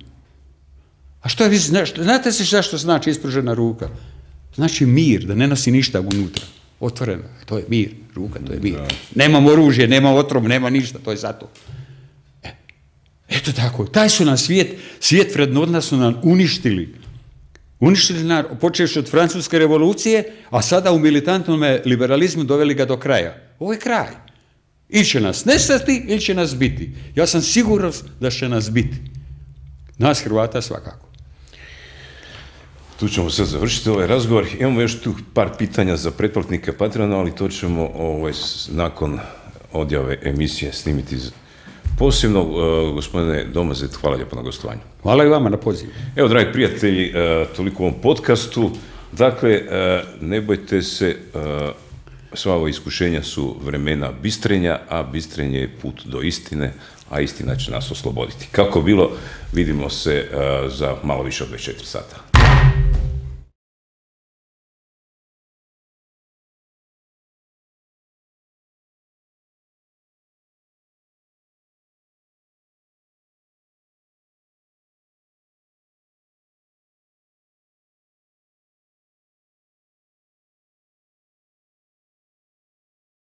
A što vi znate se zašto znači ispružena ruka? Znači mir, da ne nosi ništa unutra. Otvoreno, to je mir, ruka, to je mir. Da. Nemam oružje, nema otrov, nema ništa, to je zato. Eto tako, taj su nam svijet vrednota su nam uništili. Uništili nam, počevši od Francuske revolucije, a sada u militantnom liberalizmu doveli ga do kraja. Ovo je kraj. Ili će nas nestati, ili će nas biti. Ja sam siguran da će nas biti. Nas Hrvata svakako. Tu ćemo sad završiti ovaj razgovor. Imamo još tu par pitanja za pretplatnike Patreona, ali to ćemo nakon odjave emisije snimiti posebno. Gospodine Domazet, hvala lijepo na gostovanju. Hvala i vama na pozivu. Evo, dragi prijatelji, toliko u ovom podcastu. Dakle, ne bojte se, sva ova iskušenja su vremena bistrenja, a bistrenje je put do istine, a istina će nas osloboditi. Kako bilo, vidimo se za malo više od 24 sata.